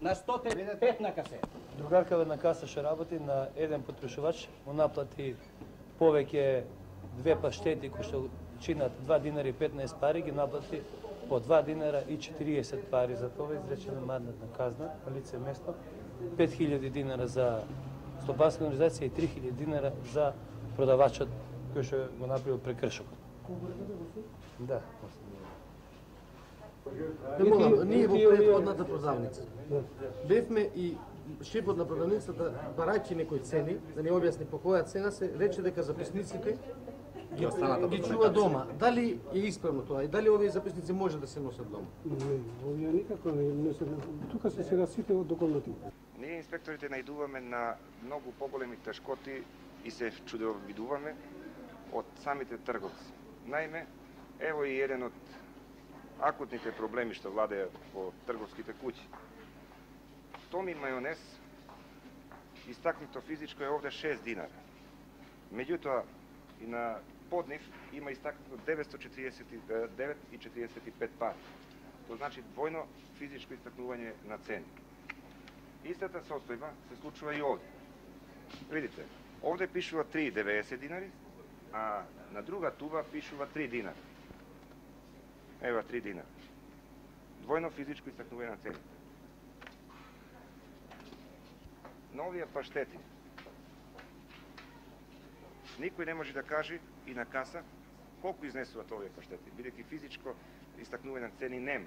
На сто пет на касе. Другарка на каса што работи на еден потрошувач, му наплати повеќе две паштети кои што чинат два динари и петнаесет пари, ги наплати по два динара и четириесет пари. За тоа изречена мандатна казна на лице место, пет хиљади динара за слободска организација и три хиљади динара за продавачот кој што го направил прекршокот. Да. Не молам, ние во предходната продавница бевме и шефот на продавницата, барајќи некои цени, да ни објасни по која цена се рече дека записниците ги, ги чува дома. Дали е исправно тоа и дали овие записници може да се носат дома? Не, овие никако не, не се... Тука се сега сите од доколнати. Ние инспекторите најдуваме на многу поголеми тешкоти и се чудовидуваме од самите трговци. Наиме, ево и еден од акутните проблеми што владеја по трговските куќи. Томи мајонез, истакнуто физичко е овде шест динара. Меѓутоа, и на поднив има истакнуто деветстотини четириесет и девет и четириесет и пет пари. Тоа значи двојно физичко истакнување на цени. Истата состојба се случува и овде. Видите, овде пишува три и деветдесет динари, а на друга туба пишува три динари. Ева три динари. Двојно физичко истакнување на цените. На овие паштети никој не може да каже и на каса колку изнесуваат овие паштети, бидејќи физичко истакнување на цени нема.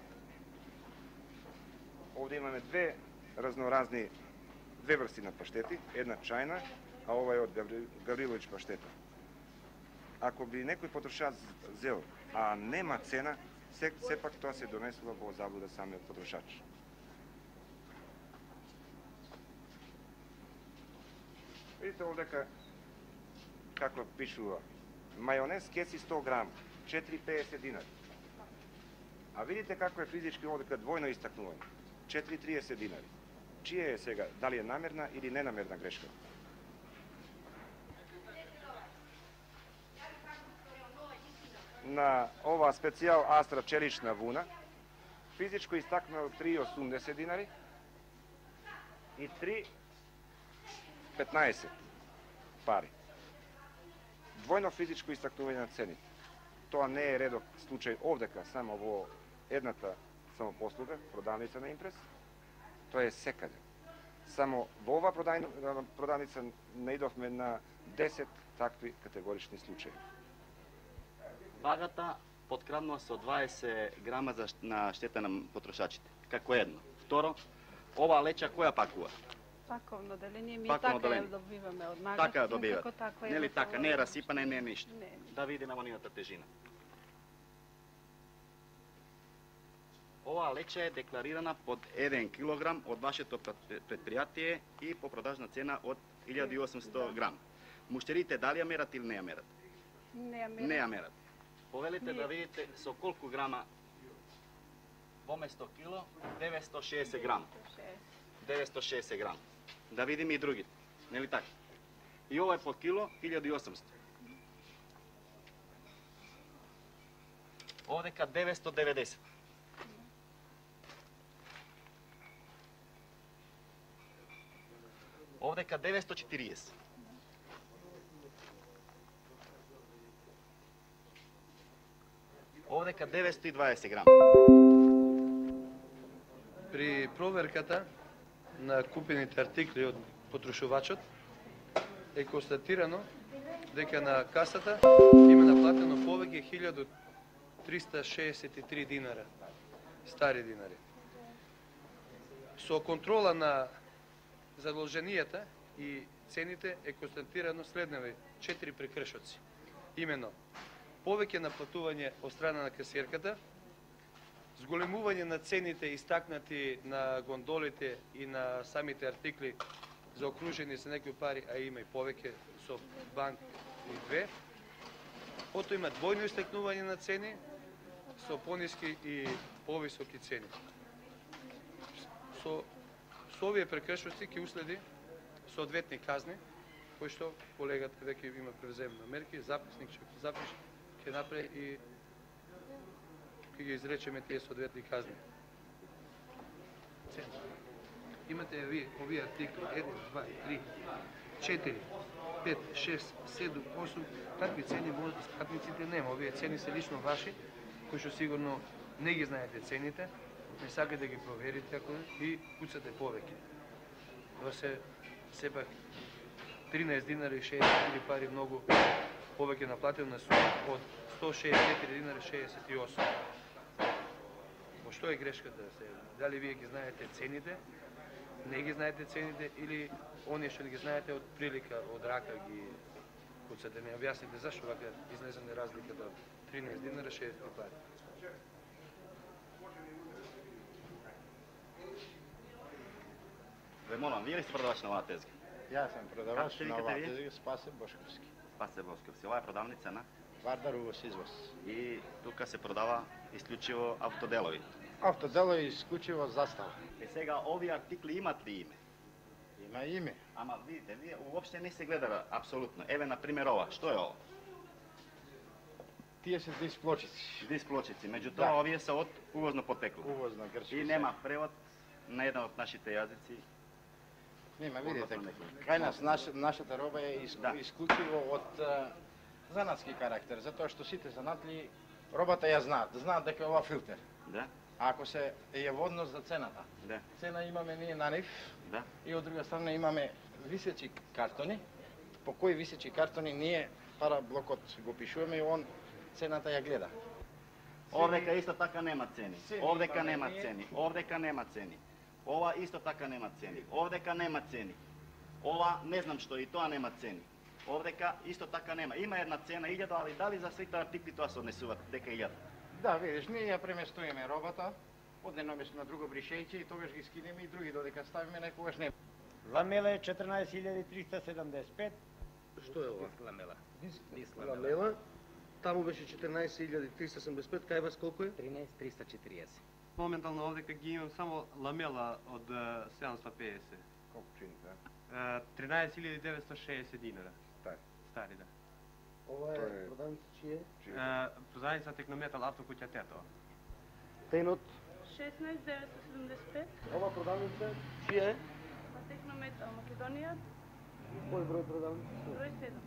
Овде имаме две разноразни, две врсти на паштети, една чајна, а ова е од Гаврилович паштета. Ако би некој потрошач зел, а нема цена, сепак тоа се донесува во заблуда самиот потрошач. Видите овдека како пишува. Мајонез кеси сто грама, четири и педесет динари. А видите како е физички овдека двојно истакнување, четири и триесет динари. Чија е сега, дали е намерна или ненамерна грешка? На ова специјал Астра челична вуна, физичко истакнува три и осумдесет динари и три и петнаесет пари. Двојно физичко истакнување на цените. Тоа не е редок случај овдека, само во едната самопослуга, продавница на Импрес. Тоа е секаде. Само во ова продавница наидовме на десет такви категорични случаи. Вагата подкраднува со дваесет грама на штета на потрошачите, како едно. Второ, ова леча која пакува? Паковно деление, ми Паковно така ја деление. добиваме од магазин. Така добивате. како така е Нели во така, ова- не е расипана, не е ништо. Не. Да видиме во нивната тежина. Оваа леча е декларирана под еден килограм од вашето предпријатие и по продажна цена од илјада и осумстотини грам. Муштерите дали ја мерат или не ја мерат? Не ја мерат. Не ја мерат. Повелите Не. да видите со колку грама во место кило, деветстотини и шеесет грама. деветстотини и шеесет грама. Да видиме и другите, нели така? И ова е по кило, илјада и осумстотини. Овдека деветстотини и деветдесет. Овдека деветстотини и четириесет. Овдека деветстотини и дваесет грама. При проверката на купените артикли од потрошувачот е констатирано дека на касата има наплатено повеќе илјада триста шеесет и три динара, стари динари. Со контрола на задолженијата и цените е констатирано следневи четири прекршоци. Имено, повеќе наплатување од страна на касиерката, зголемување на цените истакнати на гондолите и на самите артикли заокружени со некои пари, а има и повеќе со банк и две. Ото има двојно истакнување на цени со пониски и повисоки цени. Со, со овие прекршоци ќе уследи соодветни казни, кои што колегата веќе има превземно мерки, записник ќе запише, ќе направи и ќе ги изречеме тие соодветни казни. Цени. Имате ви овие артикли еден, два, три, четири, пет, шест, седум, осум, такви цени може да скапниците нема. Овие цени се лично ваши, кои што сигурно не ги знаете цените, не сакате да ги проверите ако и куцате повеќе. Тоа се сепак тринаесет динари и шеесет и четири пари многу повеќе наплатено на сума од сто шеесет и четири динари шеесет и осум. Во што е грешката се? Дали вие ги знаете цените, не ги знаете цените или оние што ги знаете од прилика, од рака ги куцате? Не објасните зашто вака излезене разликата од тринаесет динари шеесет пари. молам, вие ли сте продавач на оваа тезга? Јас сум продавач Како се на викате оваа вие? тезга, Спасе Бошковски. Спасе Бошковски. Ова е продавница на? Вардар увоз извоз. И тука се продава исклучиво автоделови. Автоделови исклучиво застава. Е сега, овие артикли имат ли име? Има име. Ама видите, вие уопште не се гледа апсолутно. Еве, например, ова. Што е ова? Тие се дисплочици. Дисплочици. Меѓутоа, Да. овие се од увозно потекло. Увозно грчко. И нема превод на еден од нашите јазици. Нема, видите, кај нас наш, нашата роба е иск, да. исклучиво од а, занатски карактер, затоа што сите занатли робата ја знаат, знаат дека е ова филтер. Да. А ако се е во однос за цената. Да. Цена имаме ние на нив. Да. И од друга страна имаме висечи картони, по кои висечи картони ние пара блокот го пишуваме и он цената ја гледа. Овдека исто така нема цени. Цени Овдека имаме нема ние. цени. Овдека нема цени. Ова исто така нема цени. Овдека нема цени. Ова не знам што и тоа нема цени. Овдека исто така нема. Има една цена илјада, али дали за сите артикли тоа се однесуваат дека илјада? Да, видиш, ние ја преместуваме робата од едно место на друго бришејќи и тогаш ги скинеме и други додека ставиме некогаш не. Ламела е четрнаесет илјади триста седамдесет и пет. Што е ова? Ламела. Диск ламела. Таму беше четрнаесет илјади триста седамдесет и пет, кај вас колку е? тринесет триста четириесет. Моментално овдека ги имам само ламела од седумстотини и педесет. Колку чини тоа? тринесет илјади деветстотини и шеесет динара. Стари. Стари, да. Ова Тоа е е- продавница чие? Продавница Технометал автокуќа Тетова. Тенот. шеснаесет деветстотини седумдесет и пет. Ова продавница чија е? На Технометал Македонија, Кој број продавница? број седум.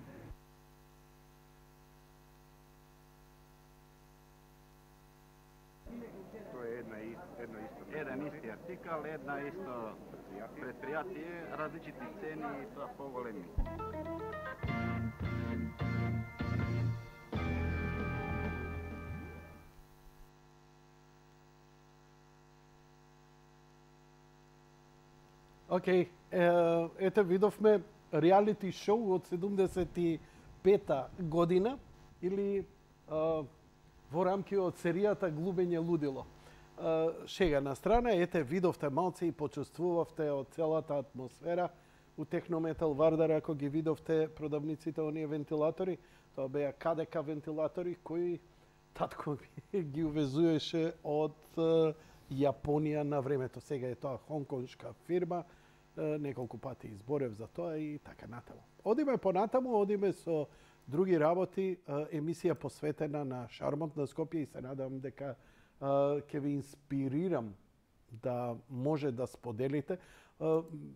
Тоа е една и едно исто. Еден исти артикал, една исто предпријатие, различити цени и тоа поголеми. Океј, okay. ете видовме реалити шоу од седумдесет и пета година или а, во рамки од серијата Глубење лудило. А, шега на страна, ете видовте малце и почувствувавте од целата атмосфера у Технометал Вардар, ако ги видовте продавниците оние вентилатори, тоа беа КДК вентилатори кои татко ми ги увезуеше од а, Јапонија на времето. Сега е тоа хонконшка фирма, неколку пати изборев за тоа и така натаму. Одиме понатаму, одиме со други работи, емисија посветена на шармот на Скопје и се надам дека ќе ви инспирирам да може да споделите.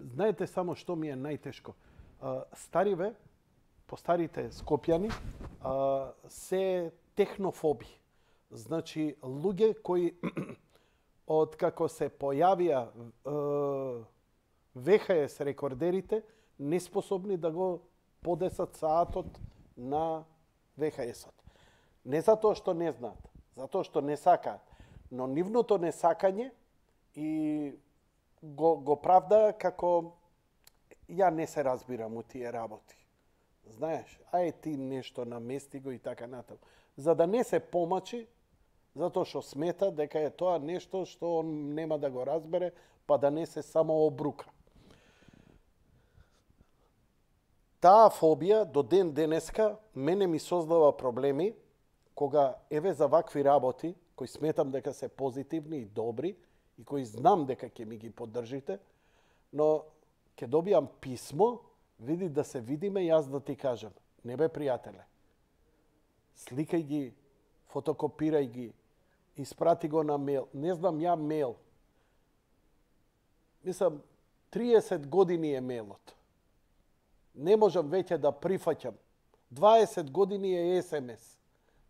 Знаете само што ми е најтешко. Стариве, постарите скопјани, се технофоби. Значи, луѓе кои од како се појавија ви ес ес рекордерите, неспособни да го подесат саатот на ви ес ес-от. Не затоа што не знаат, затоа што не сакаат, но нивното несакање и го, го правда како ја не се разбирам у тие работи. Знаеш, ај ти нешто намести го и така натаму. За да не се помачи, затоа што смета дека е тоа нешто што он нема да го разбере, па да не се само обрука. Таа фобија до ден денеска мене ми создава проблеми кога еве за вакви работи, кои сметам дека се позитивни и добри и кои знам дека ќе ми ги поддржите, но ќе добијам писмо, види да се видиме, јас да ти кажам, не бе пријателе. Сликај ги, фотокопирај ги, испрати го на мејл. Не знам ја мејл. Мислам, триесет години е мејлот. Не можам веќе да прифаќам. дваесет години е ес ем ес.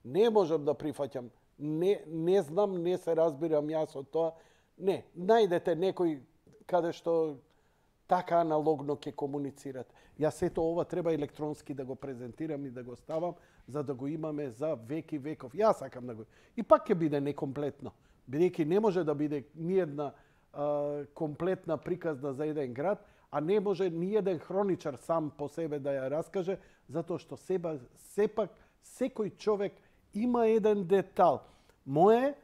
Не можам да прифаќам. Не, не знам, не се разбирам јас од тоа. Не, најдете некој каде што така аналогно ќе комуницират. Јас ето ова треба електронски да го презентирам и да го ставам, за да го имаме за веки веков. Јас сакам да го... И пак ќе биде некомплетно. Бидејќи не може да биде ниедна а, комплетна приказна за еден град, а не може ни еден хроничар сам по себе да ја раскаже, затоа што себа, сепак секој човек има еден детал. Мое,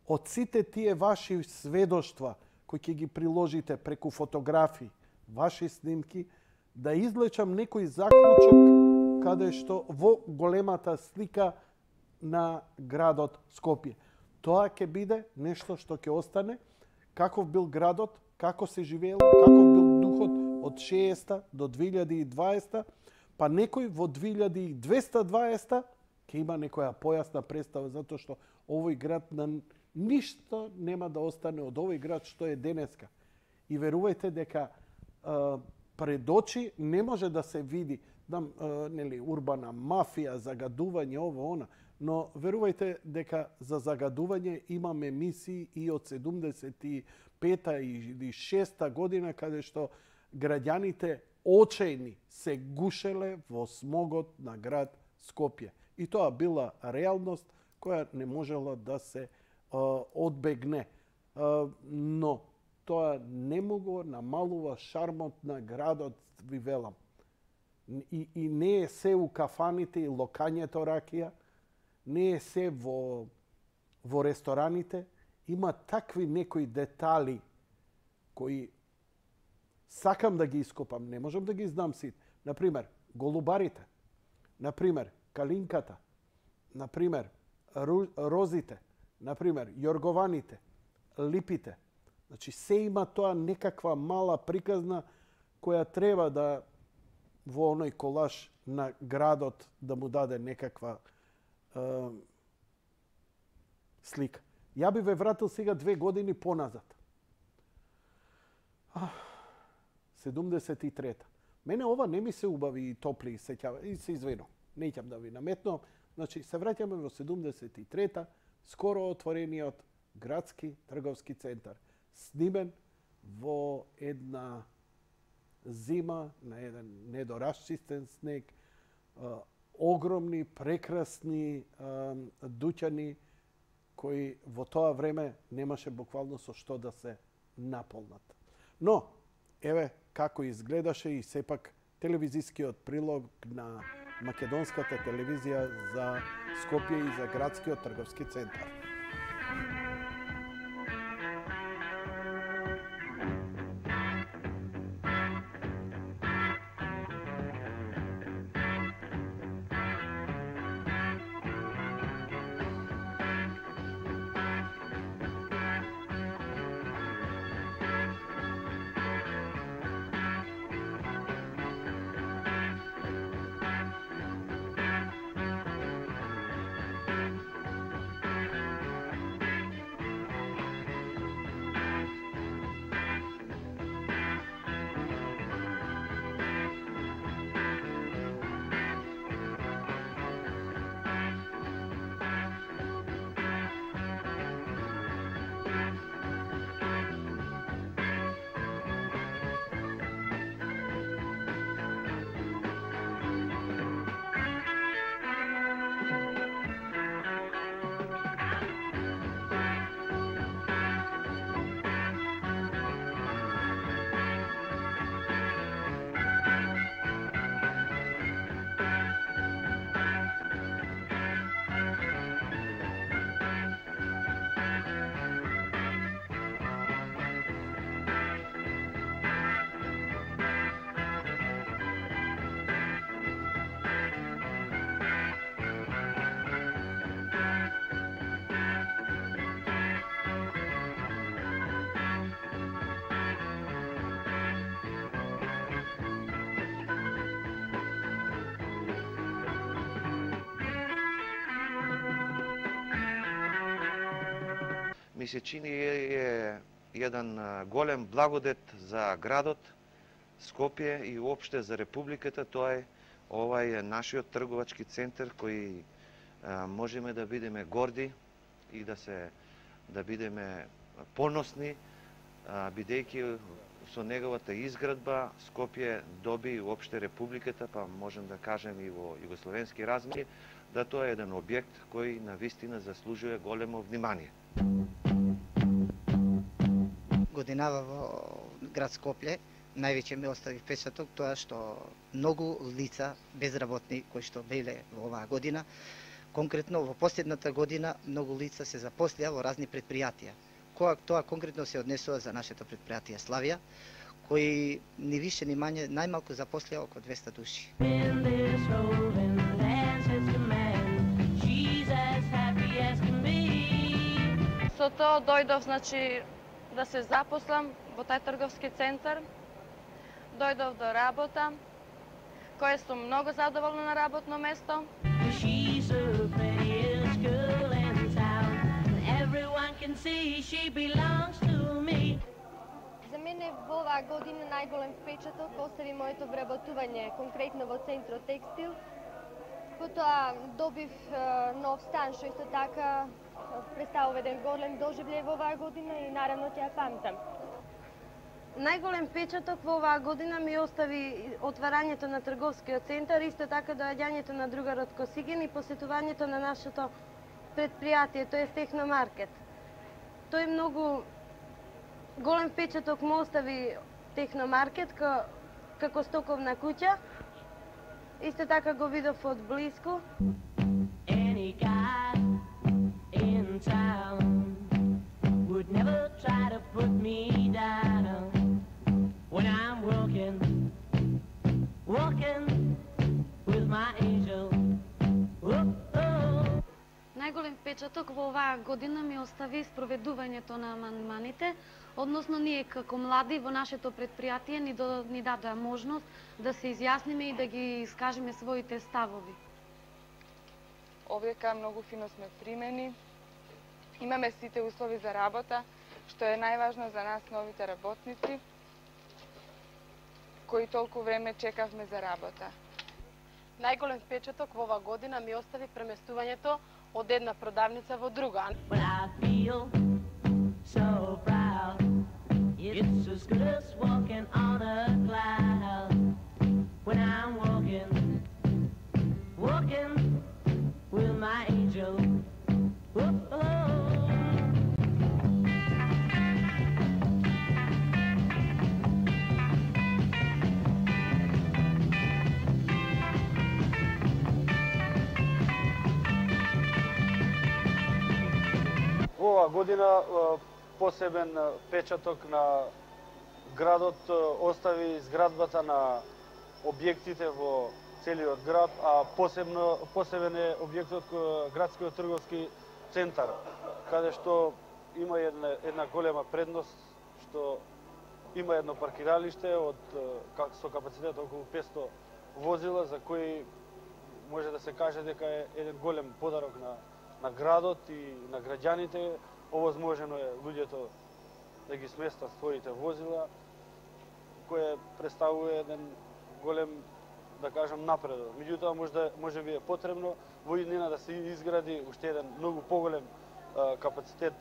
од сите тие ваши сведоштва, кои ќе ги приложите преку фотографии, ваши снимки, да излечам некој заклучок каде што во големата слика на градот Скопје. Тоа ќе биде нешто што ќе остане, каков бил градот, како се живеело, каков бил духот од шеесета до две илјади и дваесета, па некој во две илјади и двеста дваесета ќе има некоја појасна представа, затоа што овој град на ништо нема да остане од овој град што е денеска. И верувајте дека а, пред очи не може да се види дам, а, нели, урбана мафија, загадување, ово, она, но верувајте дека за загадување имаме мисии и од седумдесет и пета и шеста година, каде што граѓаните очајни се гушеле во смогот на град Скопје. И тоа била реалност која не можела да се а, одбегне. А, но тоа не могло намалува шармот на градот, ви велам. И, и не е се у кафаните и локањето ракија, не е се во, во рестораните. Има такви некои детали кои сакам да ги ископам, не можам да ги знам сите. Например, голубарите, например, калинката, например, розите, например, јоргованите, липите. Значи, се има тоа некаква мала приказна која треба да во оној колаж на градот да му даде некаква е, слика. Ја би ве вратил сега две години поназад. седумдесет и трета. Мене ова не ми се убави и топли сеќава. И се извинувам. Неќам да ви наметнувам. Значи, се враќаме во седумдесет и трета, скоро отворениот градски трговски центар. Снимен во една зима, на еден недорасчистен снег, огромни, прекрасни дуќани кои во тоа време немаше буквално со што да се наполнат. Но, еве како изгледаше и сепак телевизискиот прилог на македонската телевизија за Скопје и за градскиот трговски центар. Ми се чини е еден голем благодет за градот Скопје и уопште за Републиката. Тоа е овај нашиот трговачки центар кој а, можеме да бидеме горди и да се да бидеме поносни, а, бидејќи со неговата изградба Скопје доби и уопште Републиката, па можем да кажем и во југословенски размери, да тоа е еден објект кој навистина заслужува големо внимание. Годинава во град Скопје највеќе ме остави впечаток тоа што многу лица безработни кои што беле во оваа година, конкретно во последната година многу лица се запослија во разни предпријатија. Која тоа конкретно се однесува за нашето предпријатие Славија, кои ни више ни мање најмалку запослија околу двеста души. Со тоа дојдов, значи, да се запослам во тај трговски центар. Дојдов до работа, која сум многу задоволна на работно место. За мене во оваа година најголем впечаток остави моето вработување конкретно во Центрот Текстил. Потоа добив нов стан, што исто така представува еден голем доживљај во оваа година и наравно ќе ја памтам. Најголем впечаток во оваа година ми остави отварањето на трговскиот центар, исто така доаѓањето на другарот Косиген и посетувањето на нашето предпријатие, тоест Техномаркет. Тој многу голем впечаток му остави Техномаркет како стоковна куќа. Исто така го видов од блиску. Најголем впечаток во оваа година ми остави спроведувањето на амандманите, односно ние како млади во нашето предпријатие ни, до, ни дадоа можност да се изјасниме и да ги искажеме своите ставови. Овдека многу фино сме примени. Имаме сите услови за работа, што е најважно за нас новите работници, кои толку време чекавме за работа. Најголем впечаток во оваа година ми остави преместувањето од една продавница во друга. Оваа година посебен печаток на градот остави изградбата на објектите во целиот град, а посебно посебен е објектот кој градскиот трговски центар, каде што има една, една голема предност, што има едно паркиралиште од со капацитет околу петсто возила, за кои може да се каже дека е еден голем подарок на на градот и на граѓаните. Овозможено е луѓето да ги сместат своите возила, кое представува еден голем, да кажам, напредок. Меѓутоа, може, може би е потребно во иднина да се изгради уште еден многу поголем а, капацитет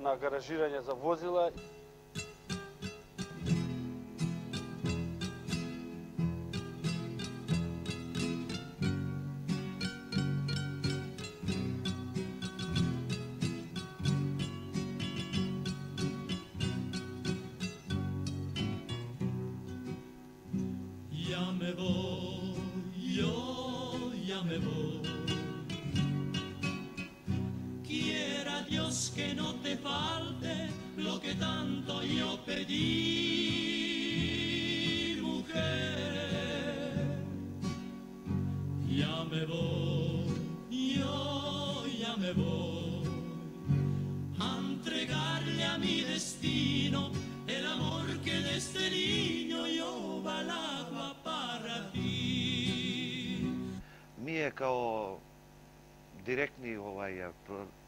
на гаражирање за возила. Ya me voy, yo ya me voy. Quiera Dios que no te falte lo que tanto yo pedí, mujer. Ya me voy, yo ya me voy a entregarle a mi destino el amor que desde niño yo balaba para ti. Ние као директни овај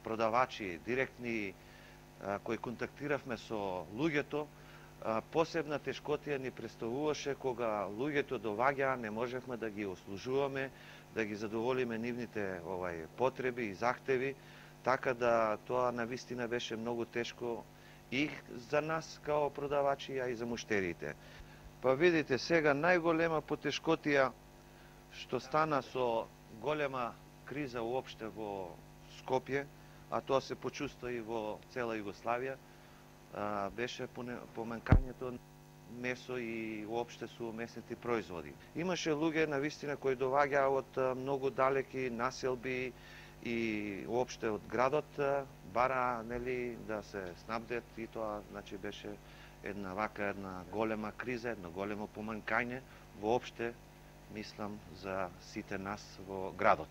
продавачи, директни а, кои контактиравме со луѓето, а, посебна тешкотија ни представуваше кога луѓето доваѓаа, не можевме да ги услужуваме, да ги задоволиме нивните овај потреби и захтеви, така да тоа навистина беше многу тешко и за нас као продавачи, а и за муштерите. Па видите, сега најголема потешкотија што стана со голема криза уопште во Скопје, а тоа се почувства и во цела Југославија, беше поменкањето месо и уопште со месните производи. Имаше луѓе навистина кои доаѓаа од многу далеки населби и уопште од градот, бара нели да се снабдет, и тоа значи беше една вака една голема криза, едно големо поманкање воопште, мислам, за сите нас во градот.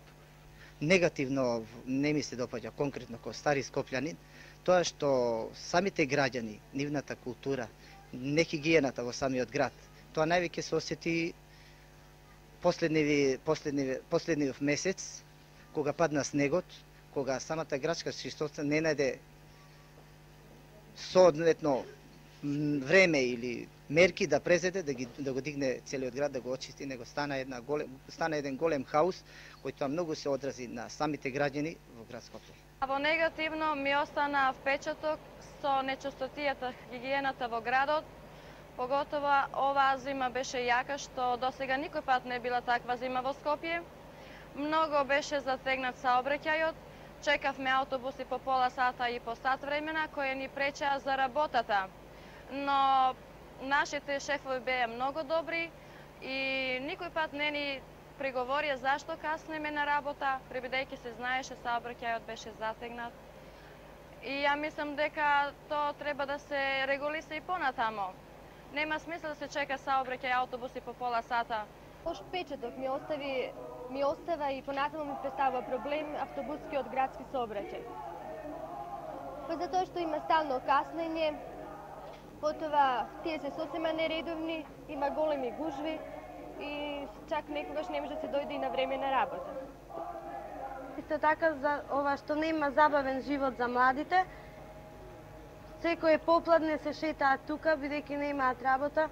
Негативно не ми се допаѓа конкретно кој стари скопљанин, тоа што самите граѓани, нивната култура, не хигиената во самиот град, тоа највеќе се осети последниви, последниви, последниот месец, кога падна снегот, кога самата градска чистота не најде соодветно време или мерки да презеде, да, ги, да го дигне целиот град, да го очисти, него стана, една голем, стана еден голем хаос, кој тоа многу се одрази на самите граѓани во град Скопје. Во негативно ми остана впечаток со нечистотијата, хигиената во градот, поготово оваа зима беше јака, што досега никој пат не била таква зима во Скопје. Многу беше затегнат саобраќајот, чекавме автобуси по пола сата и по сат времена, кои ни пречеа за работата. Но нашите шефови беа многу добри и никој пат не ни приговорија зашто каснеме на работа, пребидејќи се знаеше саобраќајот беше затегнат. И ја мислам дека тоа треба да се регулиса и понатамо. Нема смисла да се чека саобраќај автобуси по пола сата. Лош впечаток ми остави ми остава и понатаму ми представува проблем автобускиот градски сообраќај. Па затоа што има стално каснење, потоа тие се сосема нередовни, има големи гужви и чак некогаш не може да се дојде и на време на работа. Исто така за ова што нема забавен живот за младите, секој попладне се шетаат тука бидејќи немаат работа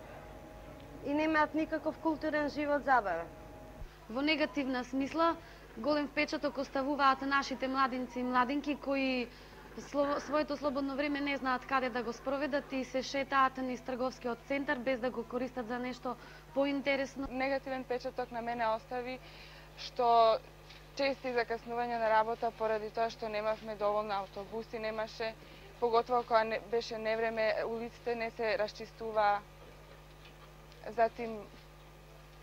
и немаат никаков културен живот забавен. Во негативна смисла, голем впечаток оставуваат нашите младинци и младинки кои своето слободно време не знаат каде да го спроведат и се шетаат низ трговскиот центар без да го користат за нешто поинтересно. Негативен впечаток на мене остави што чести закаснувања на работа поради тоа што немавме доволно автобуси, немаше, поготово кога не, беше невреме, улиците не се расчистуваа. Затим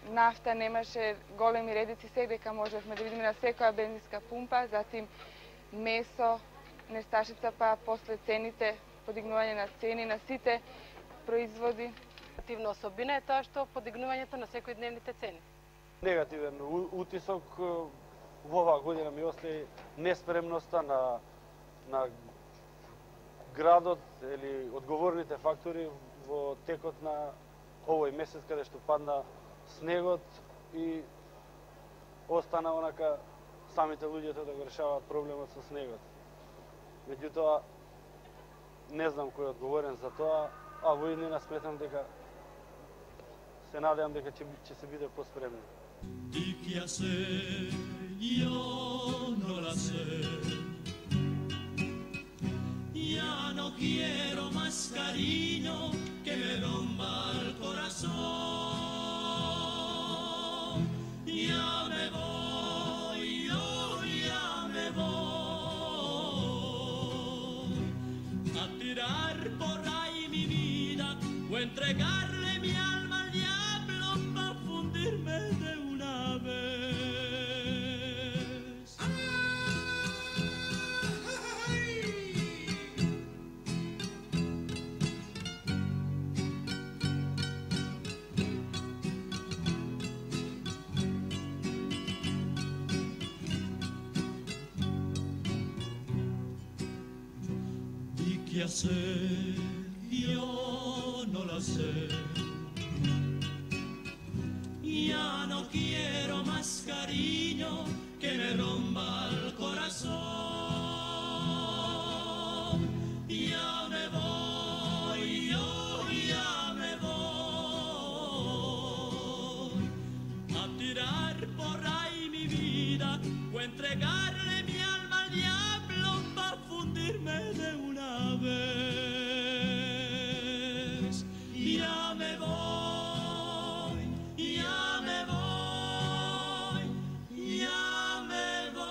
нафта немаше, големи редици секдека можевме да видиме на секоја бензинска пумпа, затим месо, несташица, па после цените, подигнување на цени на сите производи. Негативна особина е тоа што подигнувањето на секојдневните цени. Негативен утисок во оваа година ми остаи неспремноста на, на градот или одговорните фактори во текот на овој месец каде што падна снегот и остана онака самите луѓето да го решаваат проблемот со снегот. Меѓутоа, не знам кој е одговорен за тоа, а во иднина сметам дека се надевам дека ќе, ќе се биде поспремни. Di qué hacer, yo no la sé. Ya no quiero más cariño que me rompa el corazón. Ya me voy, yo ya me voy a tirar por ahí mi vida o entregarle mi alma al diablo para fundirme de una vez. ¿Y qué hacer? Yo no la sé. Ya no quiero más cariño que me rompa el corazón. Ya me voy, yo ya me voy a tirar por ahí mi vida o entregarle mi alma al diablo para fundirme de una vez. Ya me voy. Ya me voy, ya me voy.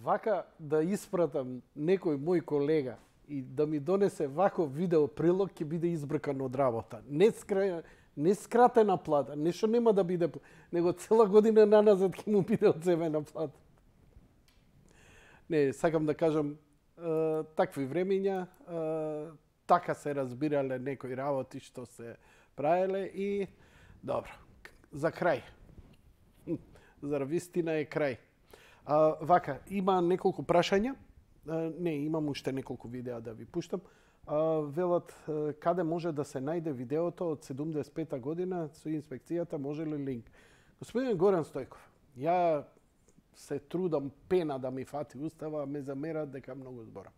Вака да испратам некој мој колега и да ми донесе вако видео прилог, ќе биде избркан од работа. Не, скра... не скратена плата, нешто нема да биде, него цела година наназад ќе му биде одземена плата. Не, сакам да кажам, е, такви времења, е, така се разбирале некои работи што се правеле и добро, за крај. За вистина е крај. А, вака, има неколку прашања. А, не, имам уште неколку видеа да ви пуштам. А, велат, каде може да се најде видеото од седумдесет и пета година со инспекцијата, може ли линк? Господин Горан Стојков, ја се трудам пена да ми фати устава, ме замерат дека многу зборам.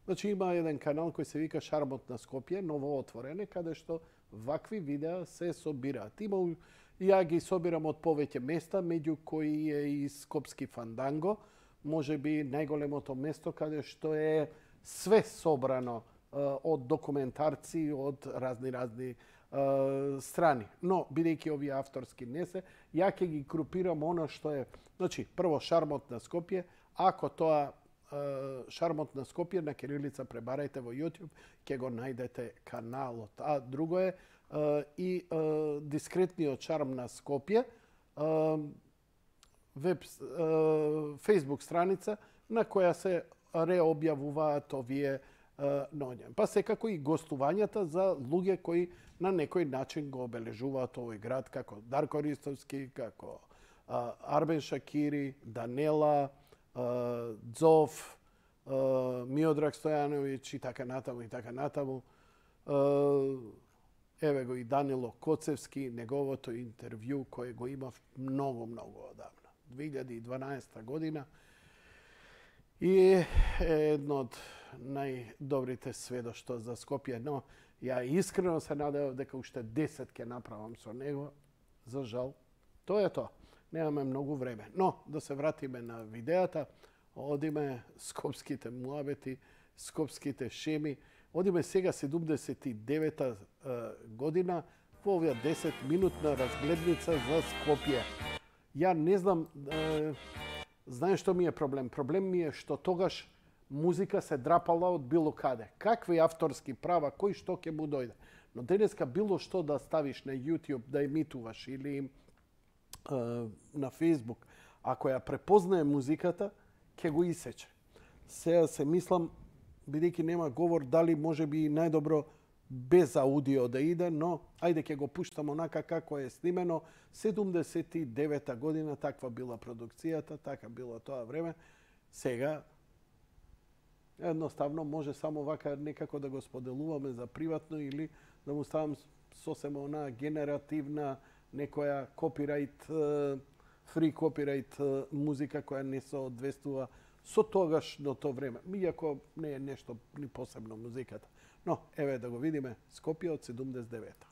Значи има еден канал кој се вика Шармот на Скопје, ново отворене, каде што вакви видеа се собираат. Има, ја ги собирам од повеќе места, меѓу кои е и Скопски Фанданго, може би најголемото место каде што е све собрано од документарци, од разни-разни страни. Но, бидејќи овие авторски не се, ја ќе ги групирам оно што е... Значи, прво Шармот на Скопје, ако тоа Шармот на Скопје на кирилица пребарајте во YouTube, ќе го најдете каналот. А друго е и Дискретниот шарм на Скопје, веб Facebook страница на која се реобјавуваат овие ноѓа. Па секако и гостувањата за луѓе кои на некој начин го обележуваат овој град, како Дарко Ристовски, како Арбен Шакири, Данела, Дзов, Миодраг Стојановиќ и така натаму и така натаму. Еве го и Данило Коцевски, неговото интервју кое го имав многу, многу одавна. две илјади и дванаесета година. И е едно од најдобрите сведоштва за Скопје. Но ја искрено се надевав дека уште десет ќе направам со него. За жал, тоа е тоа. Немаме многу време. Но, да се вратиме на видеата, одиме скопските муабети, скопските шеми, одиме сега седумдесет и девета година во оваа десет минутна разгледница за Скопје. Ја не знам, е, знаеш што ми е проблем? Проблем ми е што тогаш музика се драпала од било каде. Какви авторски права, кој што ќе му дојде. Но денеска било што да ставиш на YouTube, да емитуваш или е, на Facebook, ако ја препознае музиката, ќе го исече. Сега се мислам, бидејќи нема говор, дали може би најдобро без аудио да иде, но ајде ќе го пуштам онака како е снимено. седумдесет и девета година таква била продукцијата, така било тоа време. Сега едноставно може само вака некако да го споделуваме за приватно или да му ставам сосема онаа генеративна некоја копирајт, фри копирајт музика која не се одвестува со тогашното време. Иако не е нешто ни посебно музиката. Но, еве да го видиме Скопје од седумдесет и девета.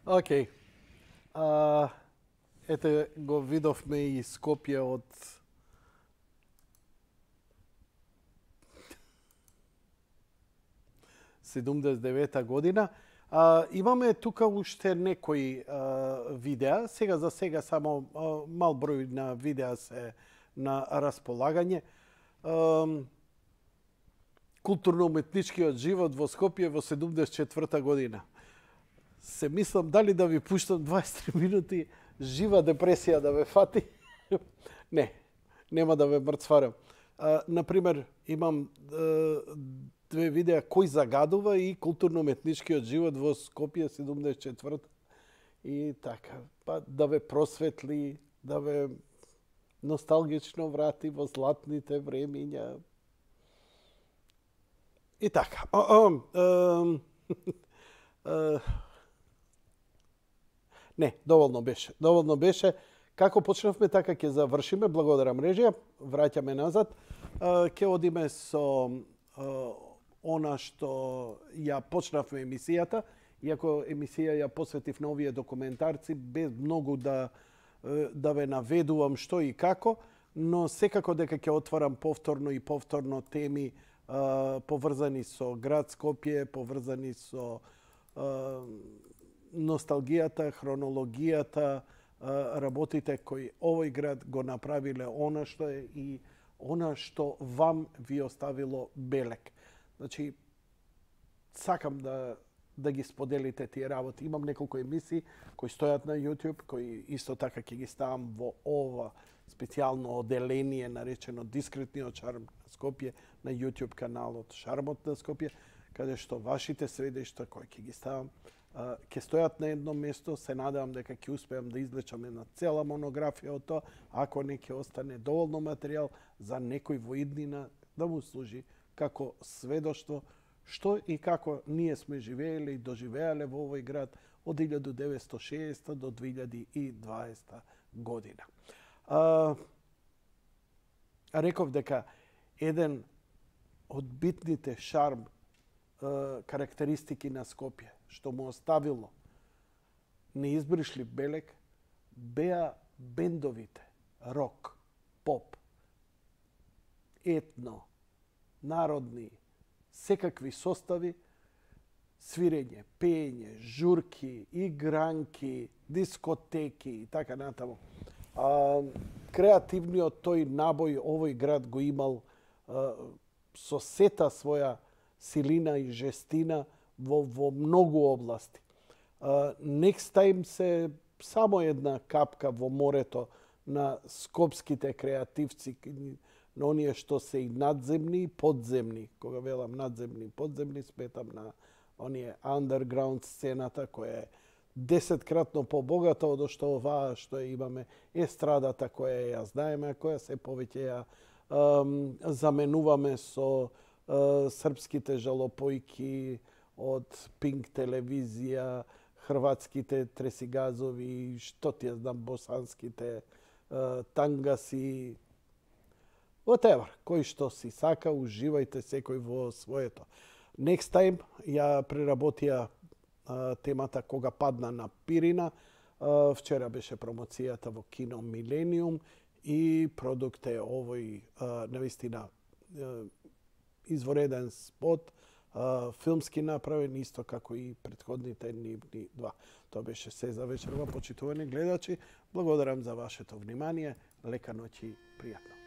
Океј. А, ете го видовме и Скопје од седумдесет и девета година. А, имаме тука уште некои а, видеа. Сега за сега само а, мал број на видеа се на располагање. А, културно-уметничкиот живот во Скопје во седумдесет и четврта година. Се мислам дали да ви пуштам дваесет три минути жива депресија да ве фати. Не, нема да ве мрцварам. А, например, имам а, две видеа кој загадува и културно-уметничкиот живот во Скопје седумдесет и четврта. И така, па да ве просветли, да ве носталгично врати во златните времиња. И така. А, а, а, а, не, доволно беше. Доволно беше. Како почнавме, така ќе завршиме. Благодарам режија. Враќаме назад. А, ќе одиме со а, она што ја почнавме емисијата. Иако емисија ја посветив на овие документарци, без многу да, да ве наведувам што и како, но секако дека ќе отварам повторно и повторно теми поврзани со град Скопје, поврзани со а, носталгијата, хронологијата, а, работите кои овој град го направиле она што е и она што вам ви оставило белек. Значи, сакам да да ги споделите тие работи. Имам неколку емисии кои стојат на YouTube, кои исто така ќе ги ставам во ова специјално оделение наречено Дискретниот шарм на Скопје на YouTube каналот Шармот на Скопје, каде што вашите сведештва кои ќе ги ставам ќе стојат на едно место. Се надевам дека ќе успеам да извлечам една цела монографија од тоа, ако не ќе остане доволно материјал за некој во иднина да му служи како сведоштво што и како ние сме живееле и доживеале во овој град од илјадум деветстотини и шеесета до две илјади и дваесета година. А, реков дека еден од битните шарм а, карактеристики на Скопје, што му оставило неизбришлив белек, беа бендовите рок, поп, етно, народни, секакви состави, свирење, пеење, журки, игранки, дискотеки и така натаму. А, креативниот тој набој овој град го имал а, со сета своја силина и жестина во, во многу области. А, next time се само една капка во морето на скопските креативци, на оние што се и надземни и подземни. Кога велам надземни и подземни, сметам на оние underground сцената која е десеткратно побогата од што оваа што имаме, естрадата која ја знаеме, која се повеќе ја ем, заменуваме со е, српските жалопојки од Пинк телевизија, хрватските тресигазови, што ти ја знам, босанските е, тангаси, whatever, кој што си сака, уживајте секој во своето. Next time ја преработија а, темата Кога падна на Пирина. А, вчера беше промоцијата во Кино Милениум и продукт е овој а, навистина а, извореден спот, а, филмски направен, исто како и претходните нивни два. Тоа беше се за вечерва, почитувани гледачи. Благодарам за вашето внимание. Лека ноќ и пријатно.